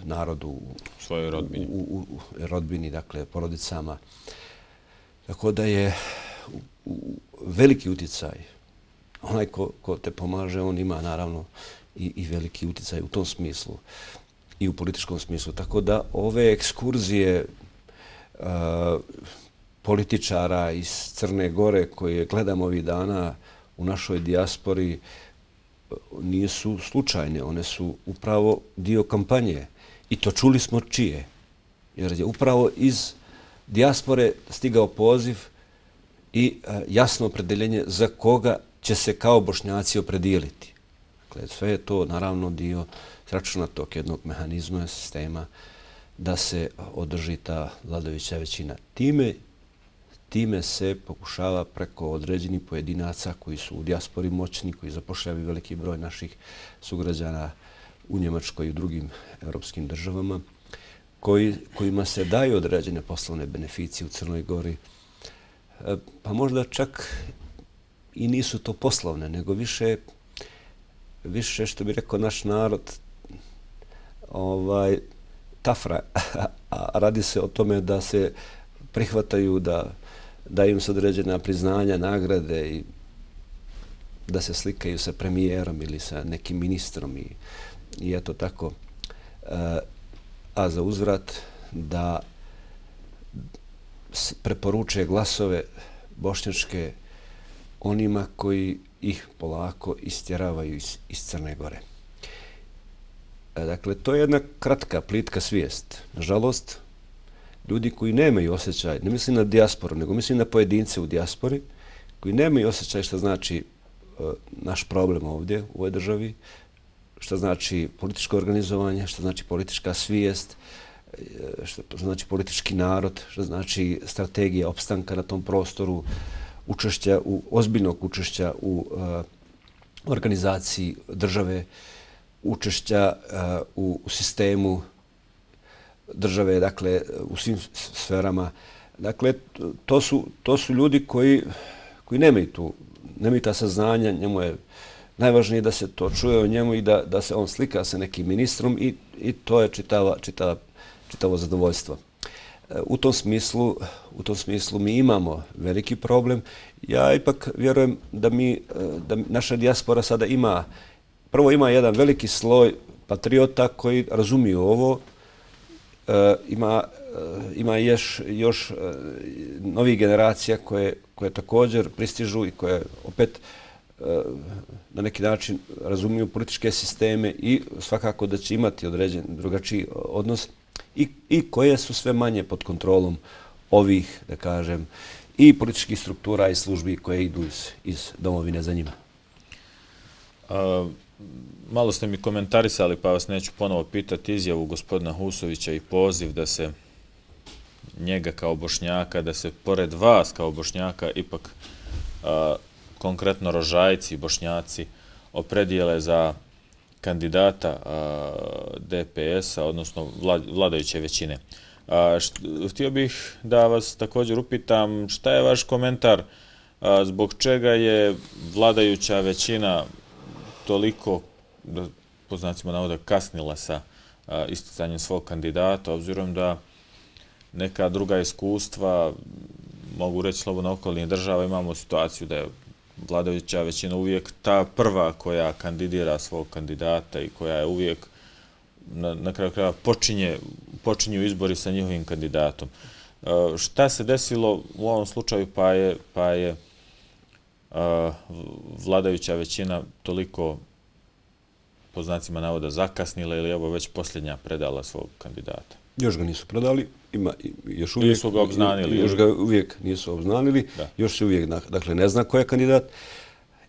S2: narodu u
S1: svojoj rodbini,
S2: u rodbini, dakle, porodicama. Tako da je veliki utjecaj. Onaj ko te pomaže, on ima naravno i veliki utjecaj u tom smislu i u političkom smislu. Tako da ove ekskurzije političara iz Crne Gore koje gledamo ovih dana u našoj dijaspori nisu slučajne. One su upravo dio kampanje. I to čuli smo čije. Jer je upravo iz dijaspore stigao poziv i jasno opredeljenje za koga će se kao Bošnjaci opredijeliti. Dakle, sve je to naravno dio sračunatog jednog mehanizma, sistema da se održi ta vladajuća većina. Time Time se pokušava preko određenih pojedinaca koji su u dijaspori moćni, koji zapošljavaju veliki broj naših sugrađana u Njemačkoj i u drugim europskim državama, kojima se daju određene poslovne beneficije u Crnoj Gori. Pa možda čak i nisu to poslovne, nego više, više što bi rekao naš narod, tafra. A radi se o tome da se prihvataju, da da im se određena priznanja, nagrade i da se slikaju sa premijerom ili sa nekim ministrom i eto tako. A za uzvrat da preporuče glasove bošnjačke onima koji ih polako istjeravaju iz Crne Gore. Dakle, to je jedna kratka, plitka svijest. Nažalost, ljudi koji nemaju osjećaj, ne mislim na dijasporu, nego mislim na pojedince u dijaspori, koji nemaju osjećaj što znači naš problem ovdje u ovoj državi, što znači političko organizovanje, što znači politička svijest, što znači politički narod, što znači strategija opstanka na tom prostoru, učešća, ozbiljnog učešća u organizaciji države, učešća u sistemu države, dakle, u svim sferama. Dakle, to su, to su ljudi koji, koji nemaju tu, nemaju ta saznanja, njemu je najvažnije da se to čuje o njemu i da, da se on slika sa nekim ministrom i, i to je čitava, čitava, čitavo zadovoljstvo. U tom smislu, u tom smislu mi imamo veliki problem. Ja ipak vjerujem da mi, da naša dijaspora sada ima, prvo ima jedan veliki sloj patriota koji razumiju ovo. Ima, ima još, još novih generacija koje, koje također pristižu i koje opet na neki način razumiju političke sisteme i svakako da će imati određen drugačiji odnos i, i koje su sve manje pod kontrolom ovih, da kažem, i političkih struktura i službi koje idu iz, iz domovine za njima.
S1: A, malo ste mi komentarisali, pa vas neću ponovo pitati izjavu gospodina Husovića i poziv da se njega kao Bošnjaka, da se pored vas kao Bošnjaka ipak konkretno Rožajci i Bošnjaci opredijele za kandidata D P S-a, odnosno vladajuće većine. Htio bih da vas također upitam šta je vaš komentar zbog čega je vladajuća većina toliko, po znacima navoda, kasnila sa isticanjem svog kandidata, obzirom da neka druga iskustva, mogu reći slobodno okolnih država, imamo situaciju da je vladajuća većina uvijek ta prva koja kandidira svog kandidata i koja je uvijek na, na kraju kraja počinje, počinju izbori sa njihovim kandidatom. Šta se desilo u ovom slučaju pa je, pa je vladajuća većina toliko, po znacima navoda, zakasnila ili evo već posljednja predala svog kandidata?
S2: Još ga nisu predali, ima, još uvijek,
S1: nisu ga obznanili.
S2: Još ga uvijek nisu obznanili, da. Još se uvijek dakle, ne zna ko je kandidat,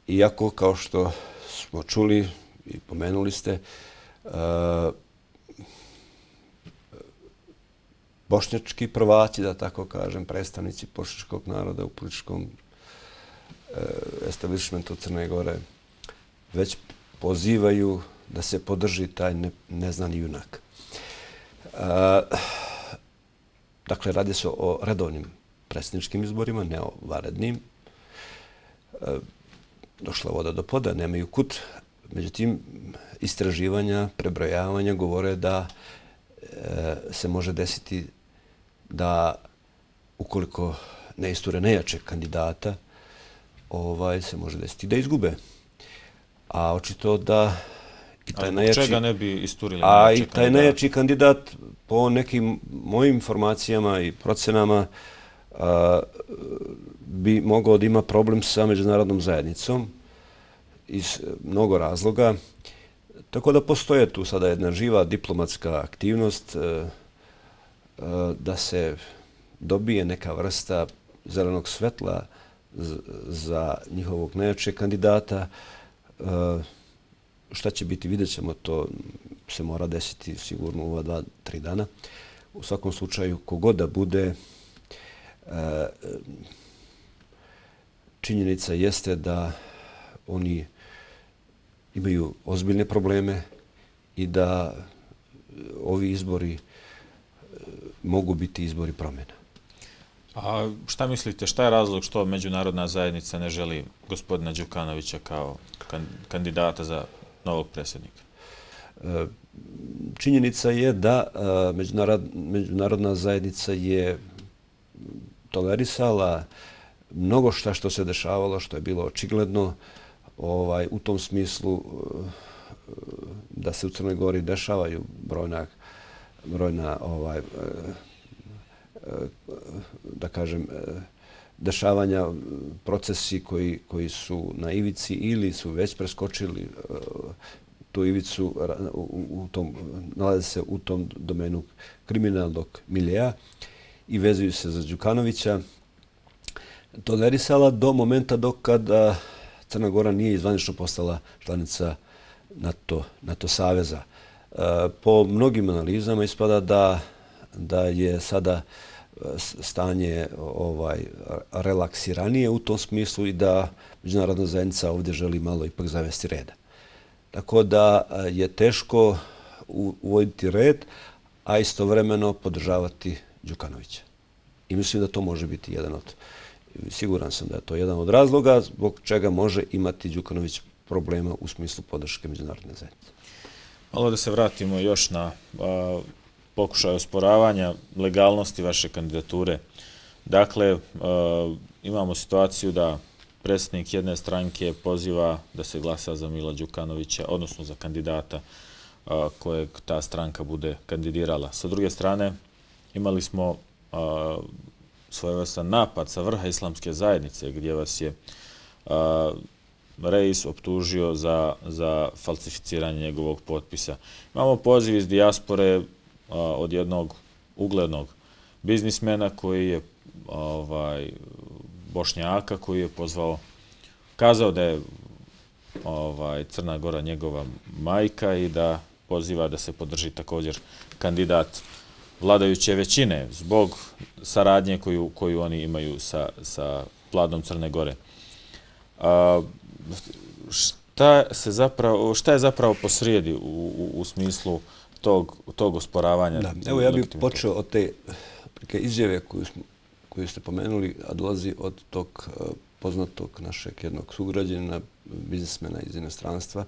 S2: iako kao što smo čuli i pomenuli ste, uh, bošnjački prvaci, da tako kažem, predstavnici bošnjačkog naroda u političkom uh, establishmentu Crne Gore već pozivaju da se podrži taj ne, neznani junak. Uh, dakle, radi se o redovnim predsjedničkim izborima, ne o vanrednim. Uh, došla voda do poda, nemaju kut. Međutim, istraživanja, prebrojavanja govore da uh, se može desiti da ukoliko ne isture nejačeg kandidata, ovaj, se može desiti da izgube. A očito da
S1: i taj najjači, čega ne bi isturili
S2: a i taj najjači kandidat, po nekim mojim informacijama i procenama, a, bi mogao da ima problem sa međunarodnom zajednicom iz mnogo razloga. Tako da postoje tu sada jedna živa diplomatska aktivnost a, a, da se dobije neka vrsta zelenog svetla z, za njihovog najjačeg kandidata. A, šta će biti, vidjet ćemo, to se mora desiti sigurno u ova dva, tri dana. U svakom slučaju, kogod da bude, e, činjenica jeste da oni imaju ozbiljne probleme i da ovi izbori mogu biti izbori promjena.
S1: A šta mislite, šta je razlog što međunarodna zajednica ne želi gospodina Đukanovića kao kandidata za novog predsjednika?
S2: Činjenica je da međunarodna zajednica je tolerisala mnogo šta što se dešavalo, što je bilo očigledno, ovaj, u tom smislu da se u Crnoj Gori dešavaju brojna, brojna ovaj, da kažem, dešavanja, procesi koji, koji su na ivici ili su već preskočili tu ivicu, u, u tom, nalaze se u tom domenu kriminalnog miljeja i vezuju se za Đukanovića, tolerisala do momenta dok kada Crna Gora nije zvanično postala članica NATO, NATO saveza. Po mnogim analizama ispada da, da je sada stanje ovaj relaksiranije u tom smislu i da međunarodna zajednica ovdje želi malo ipak zavesti reda. Tako da je teško uvoditi red, a istovremeno podržavati Đukanovića. I mislim da to može biti jedan od, siguran sam da je to jedan od razloga zbog čega može imati Đukanović problema u smislu podrške međunarodne zajednice.
S1: Malo da se vratimo još na a, pokušaj osporavanja legalnosti vaše kandidature. Dakle, a, imamo situaciju da predsjednik jedne stranke poziva da se glasa za Mila Đukanovića, odnosno za kandidata a, kojeg ta stranka bude kandidirala. Sa druge strane, imali smo a, svojevrstan napad sa vrha islamske zajednice gdje vas je a, Reis optužio za, za falsificiranje njegovog potpisa. Imamo poziv iz dijaspore a, od jednog uglednog biznismena koji je ovaj, Bošnjaka, koji je pozvao, kazao da je ovaj, Crna Gora njegova majka i da poziva da se podrži također kandidat vladajuće većine zbog saradnje koju, koju oni imaju sa, sa vladom Crne Gore. A, šta, se zapravo, šta je zapravo posrijedi u, u, u smislu tog, tog osporavanja?
S2: Da, evo ja bih počeo od te izjave koju, smo, koju ste pomenuli, a dolazi od tog poznatog našeg jednog sugrađanina, biznismena iz inostranstva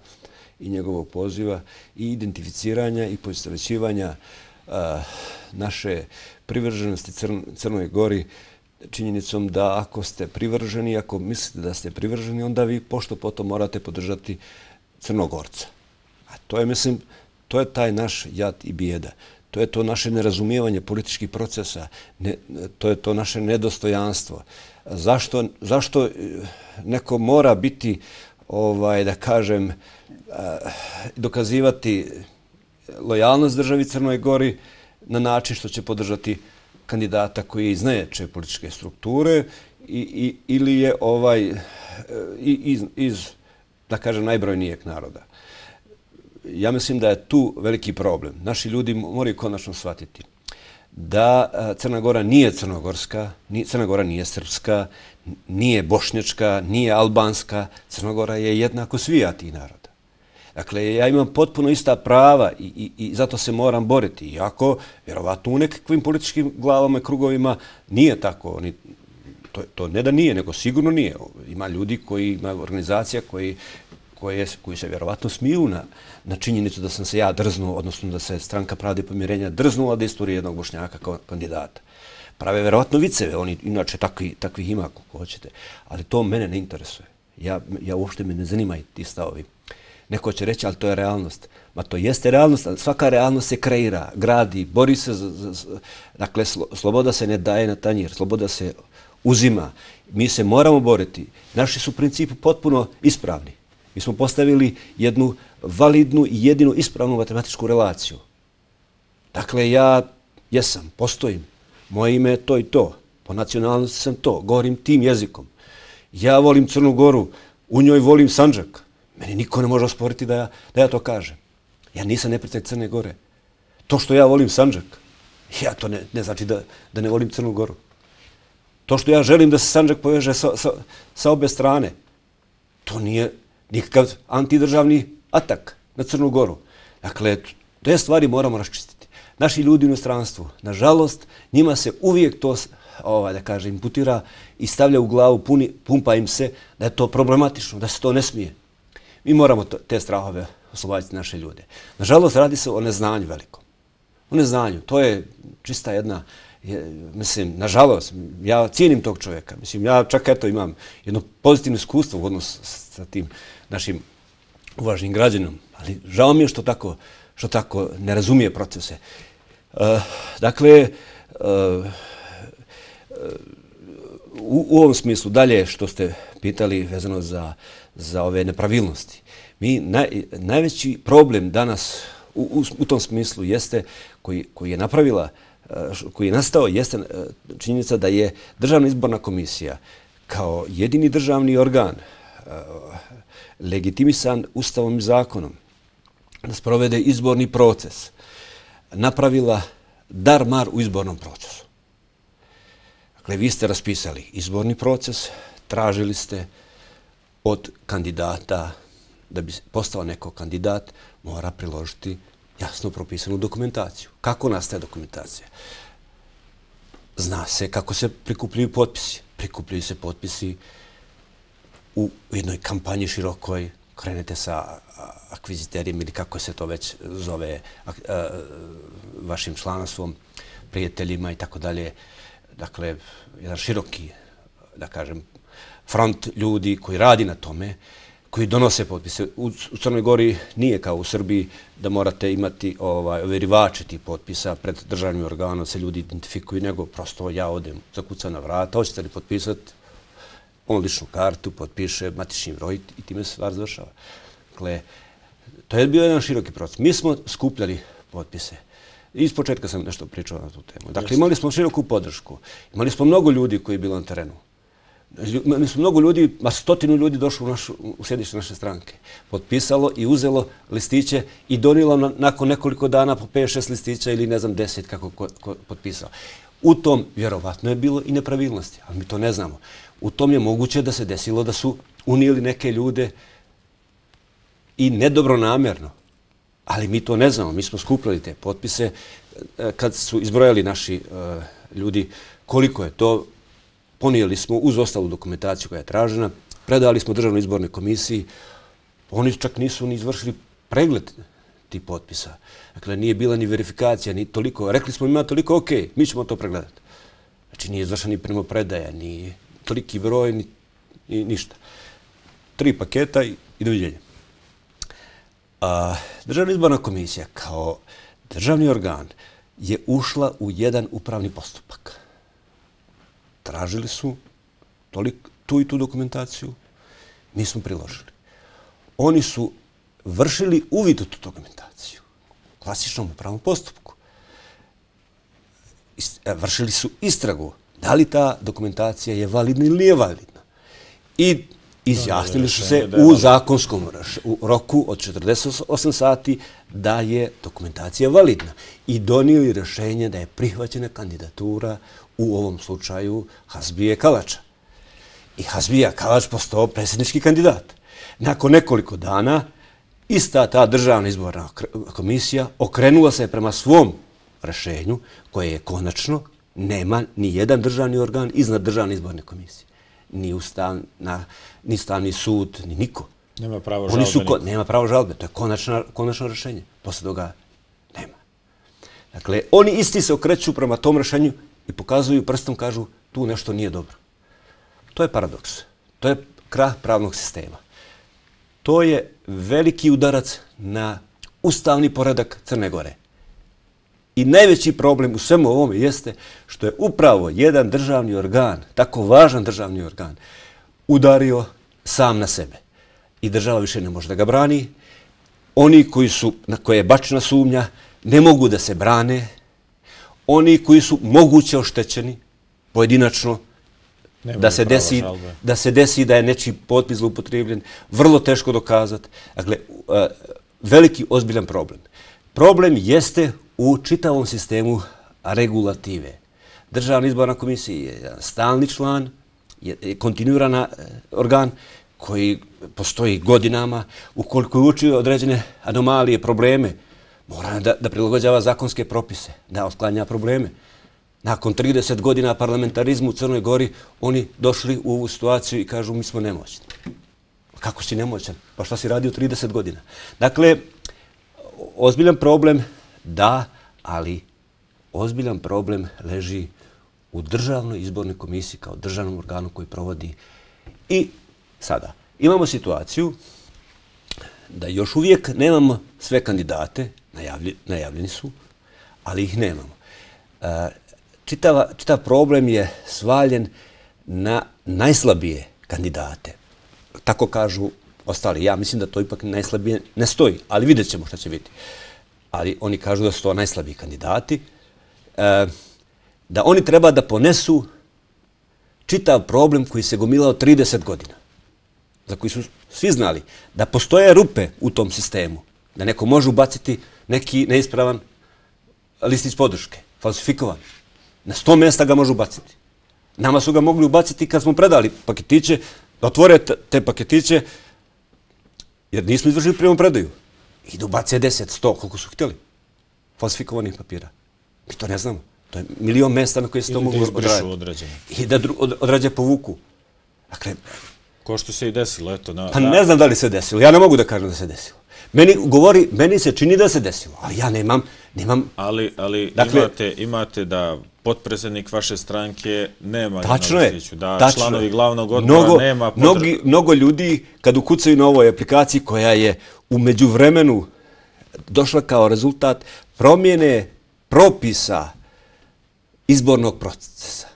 S2: i njegovog poziva i identificiranja i poistovjećivanja naše privrženosti Crnoj Gori činjenicom da ako ste privrženi, ako mislite da ste privrženi, onda vi pošto potom morate podržati Crnogorca. A to je, mislim, to je taj naš jad i bijeda. To je to naše nerazumijevanje političkih procesa, ne, to je to naše nedostojanstvo. Zašto, zašto neko mora biti, ovaj, da kažem, dokazivati lojalnost državi Crnoj Gori na način što će podržati kandidata koji je iz najjače političke strukture i, i, ili je ovaj iz, iz, da kažem, najbrojnijeg naroda. Ja mislim da je tu veliki problem. Naši ljudi moraju konačno shvatiti da Crna Gora nije crnogorska, Crna Gora nije srpska, nije bošnjačka, nije albanska. Crna Gora je jednako svija tih naroda. Dakle, ja imam potpuno ista prava i, i, i zato se moram boriti. Iako, vjerovatno, u nekakvim političkim glavama i krugovima nije tako. Oni, to, to ne da nije, nego sigurno nije. Ima ljudi koji, ima organizacija koji, koje, koji se vjerovatno smiju na, na činjenicu da sam se ja drznuo, odnosno da se Stranka pravde i pomirenja drznula da istorije jednog Bošnjaka kao kandidata. Prave vjerovatno viceve, oni inače takvi, takvih ima kako hoćete. Ali to mene ne interesuje. Ja, ja uopšte me ne zanimaju ti stavovi. Neko će reći, ali to je realnost. Ma to jeste realnost, ali svaka realnost se kreira, gradi, bori se. Za, za, dakle, sloboda se ne daje na tanjir, sloboda se uzima. Mi se moramo boriti. Naši su principi potpuno ispravni. Mi smo postavili jednu validnu i jedinu ispravnu matematičku relaciju. Dakle, ja jesam, postojim. Moje ime je to i to. Po nacionalnosti sam to. Govorim tim jezikom. Ja volim Crnu Goru. U njoj volim Sandžak. Meni niko ne može osporiti da ja, da ja to kažem. Ja nisam neprijatelj Crne Gore. To što ja volim Sandžak, ja to ne, ne znači da, da ne volim Crnu Goru. To što ja želim da se Sandžak poveže sa, sa, sa obe strane, to nije nikakav antidržavni atak na Crnu Goru. Dakle, te stvari moramo raščistiti. Naši ljudi u inostranstvu, nažalost, njima se uvijek to, ovaj, da kažem, imputira i stavlja u glavu, puni, pumpa im se da je to problematično, da se to ne smije. Mi moramo to, te strahove osloboditi naše ljude. Nažalost, radi se o neznanju velikom. O neznanju. To je čista jedna, je, mislim, nažalost, ja cijenim tog čovjeka. Mislim, ja čak eto imam jedno pozitivno iskustvo u odnosu sa tim našim uvažnim građanom, ali žao mi je što tako, što tako ne razumije procese. Uh, dakle, uh, u, u ovom smislu dalje što ste pitali vezano za za ove nepravilnosti. Mi, naj, najveći problem danas u, u, u tom smislu jeste, koji, koji je napravila, koji je nastao, jeste činjenica da je Državna izborna komisija kao jedini državni organ legitimisan Ustavom i zakonom da sprovede izborni proces, napravila dar-mar u izbornom procesu. Dakle, vi ste raspisali izborni proces, tražili ste od kandidata, da bi postao neko kandidat, mora priložiti jasno propisanu dokumentaciju. Kako nastaje dokumentacija? Zna se kako se prikupljaju potpisi. Prikupljaju se potpisi u jednoj kampanji širokoj, krenete sa akviziterima ili kako se to već zove, vašim članstvom, prijateljima i tako dalje. Dakle, jedan široki, da kažem, front ljudi koji radi na tome, koji donose potpise. U, u Crnoj Gori nije kao u Srbiji da morate imati ovaj, overivače tih potpisa pred državnim organom, se ljudi identifikuju, nego prosto ja odem, zakucam na vrata, hoćete li potpisati, on ličnu kartu, potpiše matični broj i time se stvar završava. Dakle, to je bio jedan široki proces. Mi smo skupljali potpise. Iz početka sam nešto pričao na tu temu. Dakle, imali smo široku podršku. Imali smo mnogo ljudi koji je bilo na terenu. Mi su mnogo ljudi, ma stotinu ljudi došlo u, našu, u sjedište naše stranke, potpisalo i uzelo listiće i donijelo na, nakon nekoliko dana po pet šest listića ili ne znam deset kako ko, ko potpisao. U tom vjerovatno je bilo i nepravilnosti, ali mi to ne znamo. U tom je moguće da se desilo da su unijeli neke ljude i nedobronamjerno. Ali mi to ne znamo. Mi smo skupljali te potpise kad su izbrojali naši uh, ljudi koliko je to. Ponijeli smo uz ostalu dokumentaciju koja je tražena, predali smo Državnoj izbornoj komisiji. Oni čak nisu ni izvršili pregled tih potpisa. Dakle, nije bila ni verifikacija, ni toliko. Rekli smo ima toliko, ok, mi ćemo to pregledati. Znači, nije izvršena ni primopredaja, ni toliki broj, ni, ni ništa. Tri paketa i, i doviđenja. A, Državna izborna komisija kao državni organ je ušla u jedan upravni postupak. Tražili su toliko, tu i tu dokumentaciju, mi smo priložili. Oni su vršili uvid u tu dokumentaciju u klasičnom upravnom postupku. Vršili su istragu da li ta dokumentacija je validna ili nije validna. I izjasnili su se u zakonskom roku od četrdeset osam sati da je dokumentacija validna i donijeli rješenje da je prihvaćena kandidatura u ovom slučaju Hasbije Kalača. I Hasbija Kalač postao predsjednički kandidat. Nakon nekoliko dana ista ta Državna izborna komisija okrenula se prema svom rješenju koje je konačno, nema ni jedan državni organ iznad Državne izborne komisije. Ni ustavna, ni Ustavni sud, ni niko.
S1: Nema pravo
S2: žalbe. Su,
S1: niko.
S2: Nema pravo žalbe. To je konačno, konačno rješenje. Posle toga nema. Dakle, oni isti se okreću prema tom rješenju i pokazuju prstom, kažu tu nešto nije dobro. To je paradoks. To je krah pravnog sistema. To je veliki udarac na ustavni poredak Crne Gore. I najveći problem u svemu ovome jeste što je upravo jedan državni organ, tako važan državni organ, udario sam na sebe. I država više ne može da ga brani. Oni koji su, na koje je bačena sumnja ne mogu da se brane. Oni koji su moguće oštećeni, pojedinačno, da se, desi, da se desi da je nečiji potpis zloupotrebljen, vrlo teško dokazati. Dakle, veliki, ozbiljan problem. Problem jeste u čitavom sistemu regulative. Državna izborna komisija je stalni član, je kontinuirana organ koji postoji godinama. Ukoliko je učio određene anomalije, probleme, mora da, da prilagođava zakonske propise, da otklanja probleme. Nakon trideset godina parlamentarizmu u Crnoj Gori, oni došli u ovu situaciju i kažu mi smo nemoćni. Kako si nemoćan? Pa šta si radio trideset godina? Dakle, ozbiljan problem, da, ali ozbiljan problem leži u Državnoj izbornoj komisiji kao državnom organu koji provodi. I sada imamo situaciju da još uvijek nemamo sve kandidate, najavlj, najavljeni su, ali ih nemamo. E, čitava, čitav problem je svaljen na najslabije kandidate. Tako kažu ostali. Ja mislim da to ipak najslabije ne stoji, ali vidjet ćemo šta će biti. Ali oni kažu da su to najslabiji kandidati, e, da oni treba da ponesu čitav problem koji se gomilao trideset godina, za koji su svi znali da postoje rupe u tom sistemu, da neko može ubaciti neki neispravan listić podrške, falsifikovan. Na sto mjesta ga može ubaciti. Nama su ga mogli ubaciti kad smo predali paketiće, da otvore te paketiće, jer nismo izvršili primopredaju. I da ubace deset, sto, koliko su htjeli, falsifikovanih papira. Mi to ne znamo. To je milion mjesta na koje se to mogu odraditi. I da odrađe povuku. Dakle,
S1: ko što se i desilo, eto. Na,
S2: pa na... ne znam da li se desilo. Ja ne mogu da kažem da se desilo. Meni govori, meni se čini da se desilo, ali ja nemam, nemam...
S1: Ali, ali dakle, imate, imate da potpredsjednik vaše stranke nema
S2: tačno
S1: na
S2: listiću,
S1: da
S2: tačno
S1: članovi
S2: je.
S1: glavnog odbora
S2: mnogo,
S1: nema... Podr...
S2: Mnogi, mnogo ljudi, kad ukucaju na ovoj aplikaciji koja je u međuvremenu došla kao rezultat promjene propisa izbornog procesa,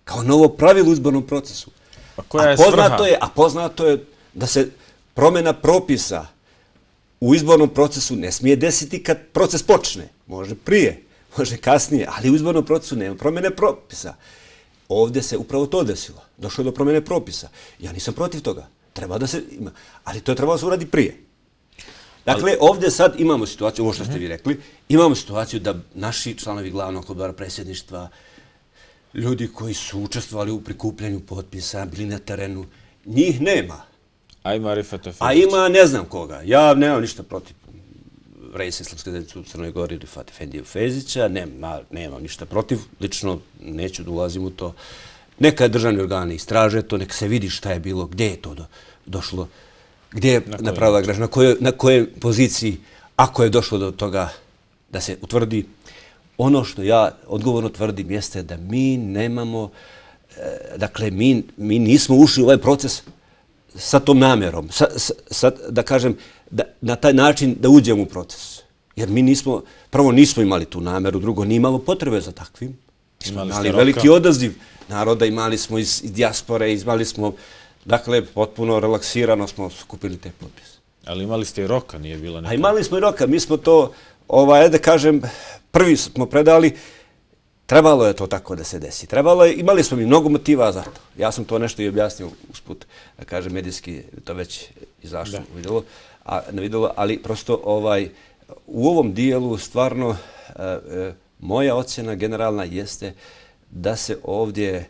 S2: kao novo pravilo u izbornom procesu.
S1: Pa koja je
S2: a, poznato je, a poznato je da se promjena propisa u izbornom procesu ne smije desiti kad proces počne. Može prije, može kasnije, ali u izbornom procesu nema promjene propisa. ovdje se upravo to desilo. Došlo je do promjene propisa. Ja nisam protiv toga. Treba da se ima. Ali to je trebalo se uradi prije. Dakle, ovdje sad imamo situaciju, ovo što ste vi rekli, imamo situaciju da naši članovi glavnog odbora predsjedništva, ljudi koji su učestvovali u prikupljanju potpisa, bili na terenu, njih nema.
S1: A ima Rifata Fezića.
S2: A ima ne znam koga. Ja nemam ništa protiv Rejsa Islamske zajednice u Crnoj Gori, Rifata Efendiju Fezića, nema, nemam ništa protiv, lično neću da ulazim u to. Neka državni organi istraže to, neka se vidi šta je bilo, gdje je to do, došlo, gdje je na napravila građa, na kojoj, na kojoj poziciji, ako je došlo do toga da se utvrdi. Ono što ja odgovorno tvrdim jeste da mi nemamo, e, dakle, mi, mi nismo ušli u ovaj proces sa tom namjerom, sa, sa, sa, da kažem, da, na taj način da uđemo u proces. Jer mi nismo, prvo nismo imali tu namjeru, drugo nije imalo potrebe za takvim. Imali, imali veliki odaziv naroda, imali smo iz, iz dijaspore, imali smo, dakle, potpuno relaksirano smo skupili te potpise.
S1: Ali imali ste i roka, nije bilo neka...
S2: A imali smo i roka, mi smo to, ovaj, da kažem, prvi smo predali, trebalo je to tako da se desi. Trebalo je, imali smo mi mnogo motiva za to. Ja sam to nešto i objasnio usput, da kažem, medijski, to već izašlo u videlu, a, na videlu, ali prosto ovaj, u ovom dijelu stvarno e, e, moja ocjena generalna jeste da se ovdje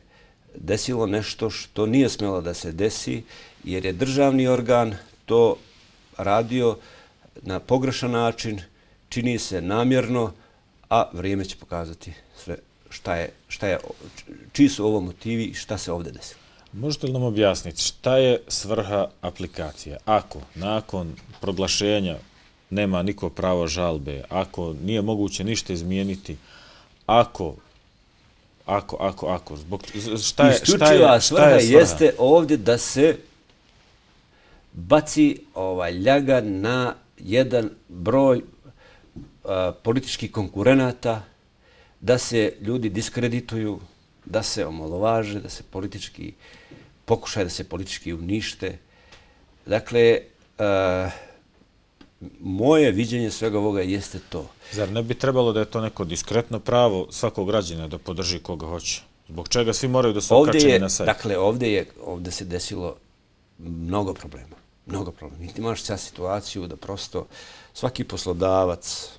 S2: desilo nešto što nije smjelo da se desi, jer je državni organ to radio na pogrešan način, čini se namjerno, a vrijeme će pokazati sve šta je, šta je, čiji su ovo motivi i šta se ovdje desilo.
S1: Možete li nam objasniti šta je svrha aplikacije? Ako nakon proglašenja nema niko pravo žalbe, ako nije moguće ništa izmijeniti, ako, ako, ako, ako, zbog, šta je,
S2: Isključiva
S1: šta je, šta
S2: svrha
S1: je svrha?
S2: Jeste ovdje da se baci ovaj ljaga na jedan broj a, političkih konkurenata, da se ljudi diskredituju, da se omalovaže, da se politički pokušaju da se politički unište. Dakle, a, moje viđenje svega ovoga jeste to.
S1: Zar ne bi trebalo da je to neko diskretno pravo svakog građana da podrži koga hoće? Zbog čega svi moraju da su okačeni na sajt?
S2: Dakle, ovdje, je, ovdje se desilo mnogo problema. Mnogo problema. Ti imaš sad situaciju da prosto svaki poslodavac,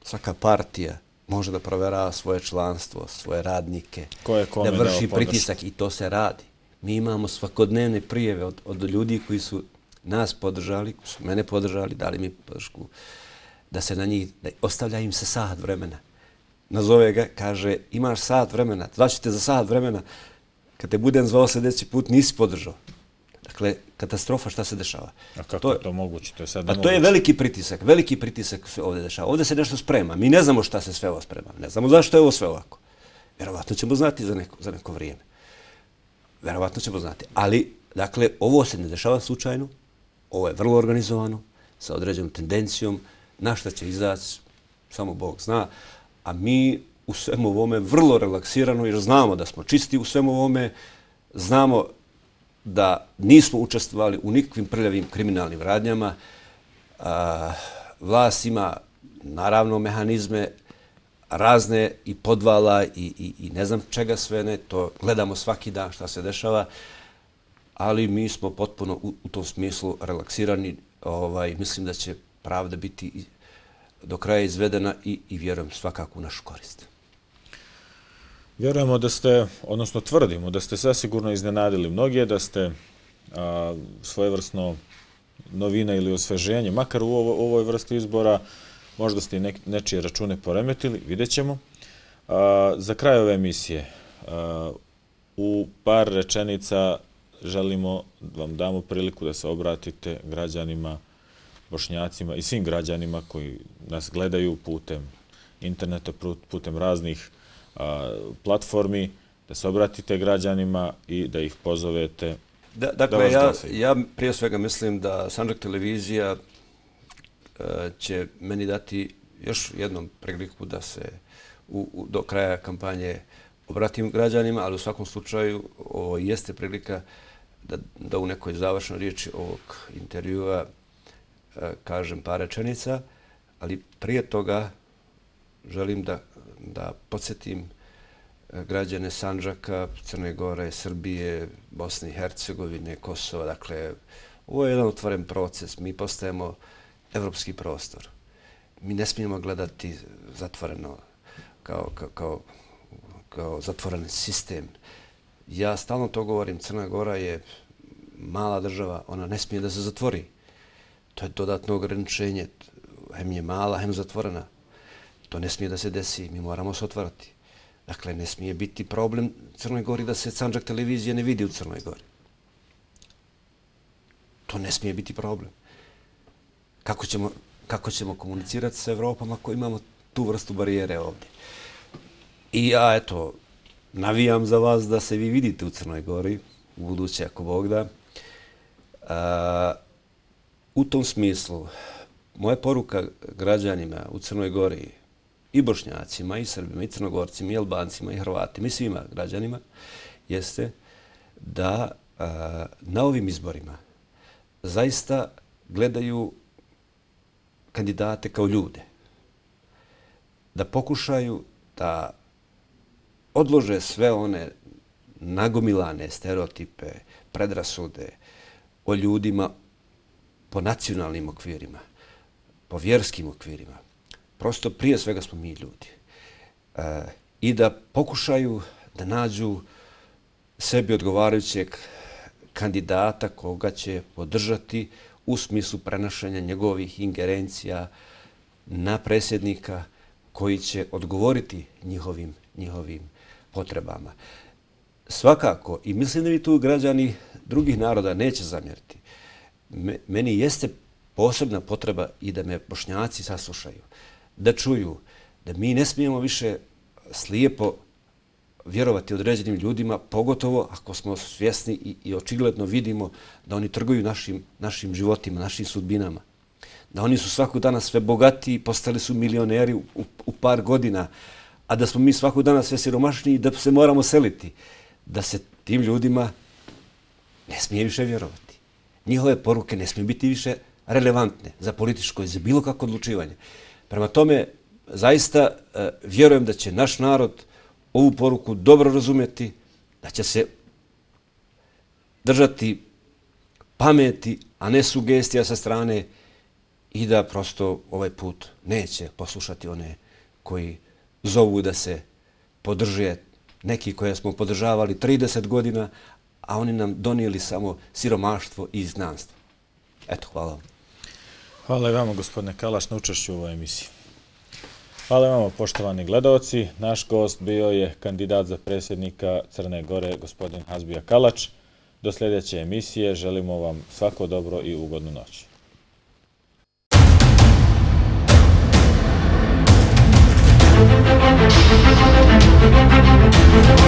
S2: svaka partija može da proverava svoje članstvo, svoje radnike,
S1: Ko je kome
S2: da vrši
S1: dao
S2: pritisak i to se radi. Mi imamo svakodnevne prijeve od, od ljudi koji su nas podržali, koji su mene podržali, dali mi podršku, da se na njih, da ostavlja im se sat vremena. Nazove ga, kaže, imaš sat vremena, zvaću te za sat vremena, kad te budem zvao sljedeći put, nisi podržao. Dakle, katastrofa, šta se dešava.
S1: A kako to je to moguće? To je sad
S2: a to je veliki pritisak, veliki pritisak se ovdje dešava. Ovdje se nešto sprema. Mi ne znamo šta se sve ovo sprema. Ne znamo zašto je ovo sve ovako. Vjerovatno ćemo znati za neko, za neko vrijeme. Vjerovatno ćemo znati. Ali, dakle, ovo se ne dešava slučajno. Ovo je vrlo organizovano, sa određenom tendencijom. Na šta će izaći, samo Bog zna. A mi u svemu ovome vrlo relaksirano, jer znamo da smo čisti u svemu ovome, znamo da nismo učestvovali u nikakvim prljavim kriminalnim radnjama. A, vlast ima, naravno, mehanizme razne i podvala i, i, i ne znam čega sve ne. To gledamo svaki dan šta se dešava, ali mi smo potpuno u, u tom smislu relaksirani. Ovaj, mislim da će pravda biti do kraja izvedena i, i vjerujem svakako u našu korist.
S1: Vjerujemo da ste, odnosno tvrdimo, da ste sasigurno iznenadili mnoge, da ste a, svojevrsno novina ili osveženje, makar u ovo, ovoj vrsti izbora, možda ste i ne, nečije račune poremetili, vidjet ćemo. A, za kraj ove emisije, a, u par rečenica želimo da vam damo priliku da se obratite građanima, Bošnjacima i svim građanima koji nas gledaju putem interneta, putem raznih a, platformi, da se obratite građanima i da ih pozovete
S2: da, dakle, da vas glasaju. Ja, ja prije svega mislim da Sandžak televizija uh, će meni dati još jednom priliku da se u, u, do kraja kampanje obratim građanima, ali u svakom slučaju ovo jeste prilika da, da u nekoj završnoj riječi ovog intervjua uh, kažem par rečenica, ali prije toga želim da, da podsjetim uh, građane Sandžaka, Crne Gore, Srbije, Bosne i Hercegovine, Kosova. Dakle, ovo je jedan otvoren proces. Mi postajemo evropski prostor. Mi ne smijemo gledati zatvoreno kao, kao, kao, kao zatvoren sistem. Ja stalno to govorim, Crna Gora je mala država, ona ne smije da se zatvori. To je dodatno ograničenje. Hem je mala, hem zatvorena. To ne smije da se desi, mi moramo se otvarati. Dakle, ne smije biti problem Crnoj Gori da se Sandžak televizije ne vidi u Crnoj Gori. To ne smije biti problem. Kako ćemo, kako ćemo komunicirati sa Evropom ako imamo tu vrstu barijere ovdje? I ja, eto, navijam za vas da se vi vidite u Crnoj Gori, u buduće, ako Bog da. A, u tom smislu, moja poruka građanima u Crnoj Gori, i Bošnjacima, i Srbima, i Crnogorcima, i Albancima, i Hrvatima, i svima građanima, jeste da a, na ovim izborima zaista gledaju kandidate kao ljude. Da pokušaju da odlože sve one nagomilane stereotipe, predrasude o ljudima po nacionalnim okvirima, po vjerskim okvirima. Prosto prije svega smo mi ljudi. E, I da pokušaju da nađu sebi odgovarajućeg kandidata koga će podržati u smislu prenošenja njegovih ingerencija na predsjednika koji će odgovoriti njihovim, njihovim potrebama. Svakako, i mislim da mi tu građani drugih naroda neće zamjeriti, meni jeste posebna potreba i da me Bošnjaci saslušaju, da čuju da mi ne smijemo više slijepo vjerovati određenim ljudima, pogotovo ako smo svjesni i, i očigledno vidimo da oni trguju našim, našim životima, našim sudbinama. Da oni su svakog dana sve bogatiji, postali su milioneri u, u par godina, a da smo mi svakog dana sve siromašniji i da se moramo seliti. Da se tim ljudima ne smije više vjerovati. Njihove poruke ne smiju biti više relevantne za političko i za bilo kako odlučivanje. Prema tome, zaista e, vjerujem da će naš narod ovu poruku dobro razumjeti, da će se držati pameti, a ne sugestija sa strane i da prosto ovaj put neće poslušati one koji zovu da se podrže neki koje smo podržavali trideset godina, a oni nam donijeli samo siromaštvo i izgnanstvo. Eto, hvala vam.
S1: Hvala i vama, gospodine Kalaš, na učešću u ovoj emisiji. Hvala vam, poštovani gledalci. Naš gost bio je kandidat za predsjednika Crne Gore, gospodin Hazbija Kalač. Do sljedeće emisije želimo vam svako dobro i ugodnu noć. Thank you.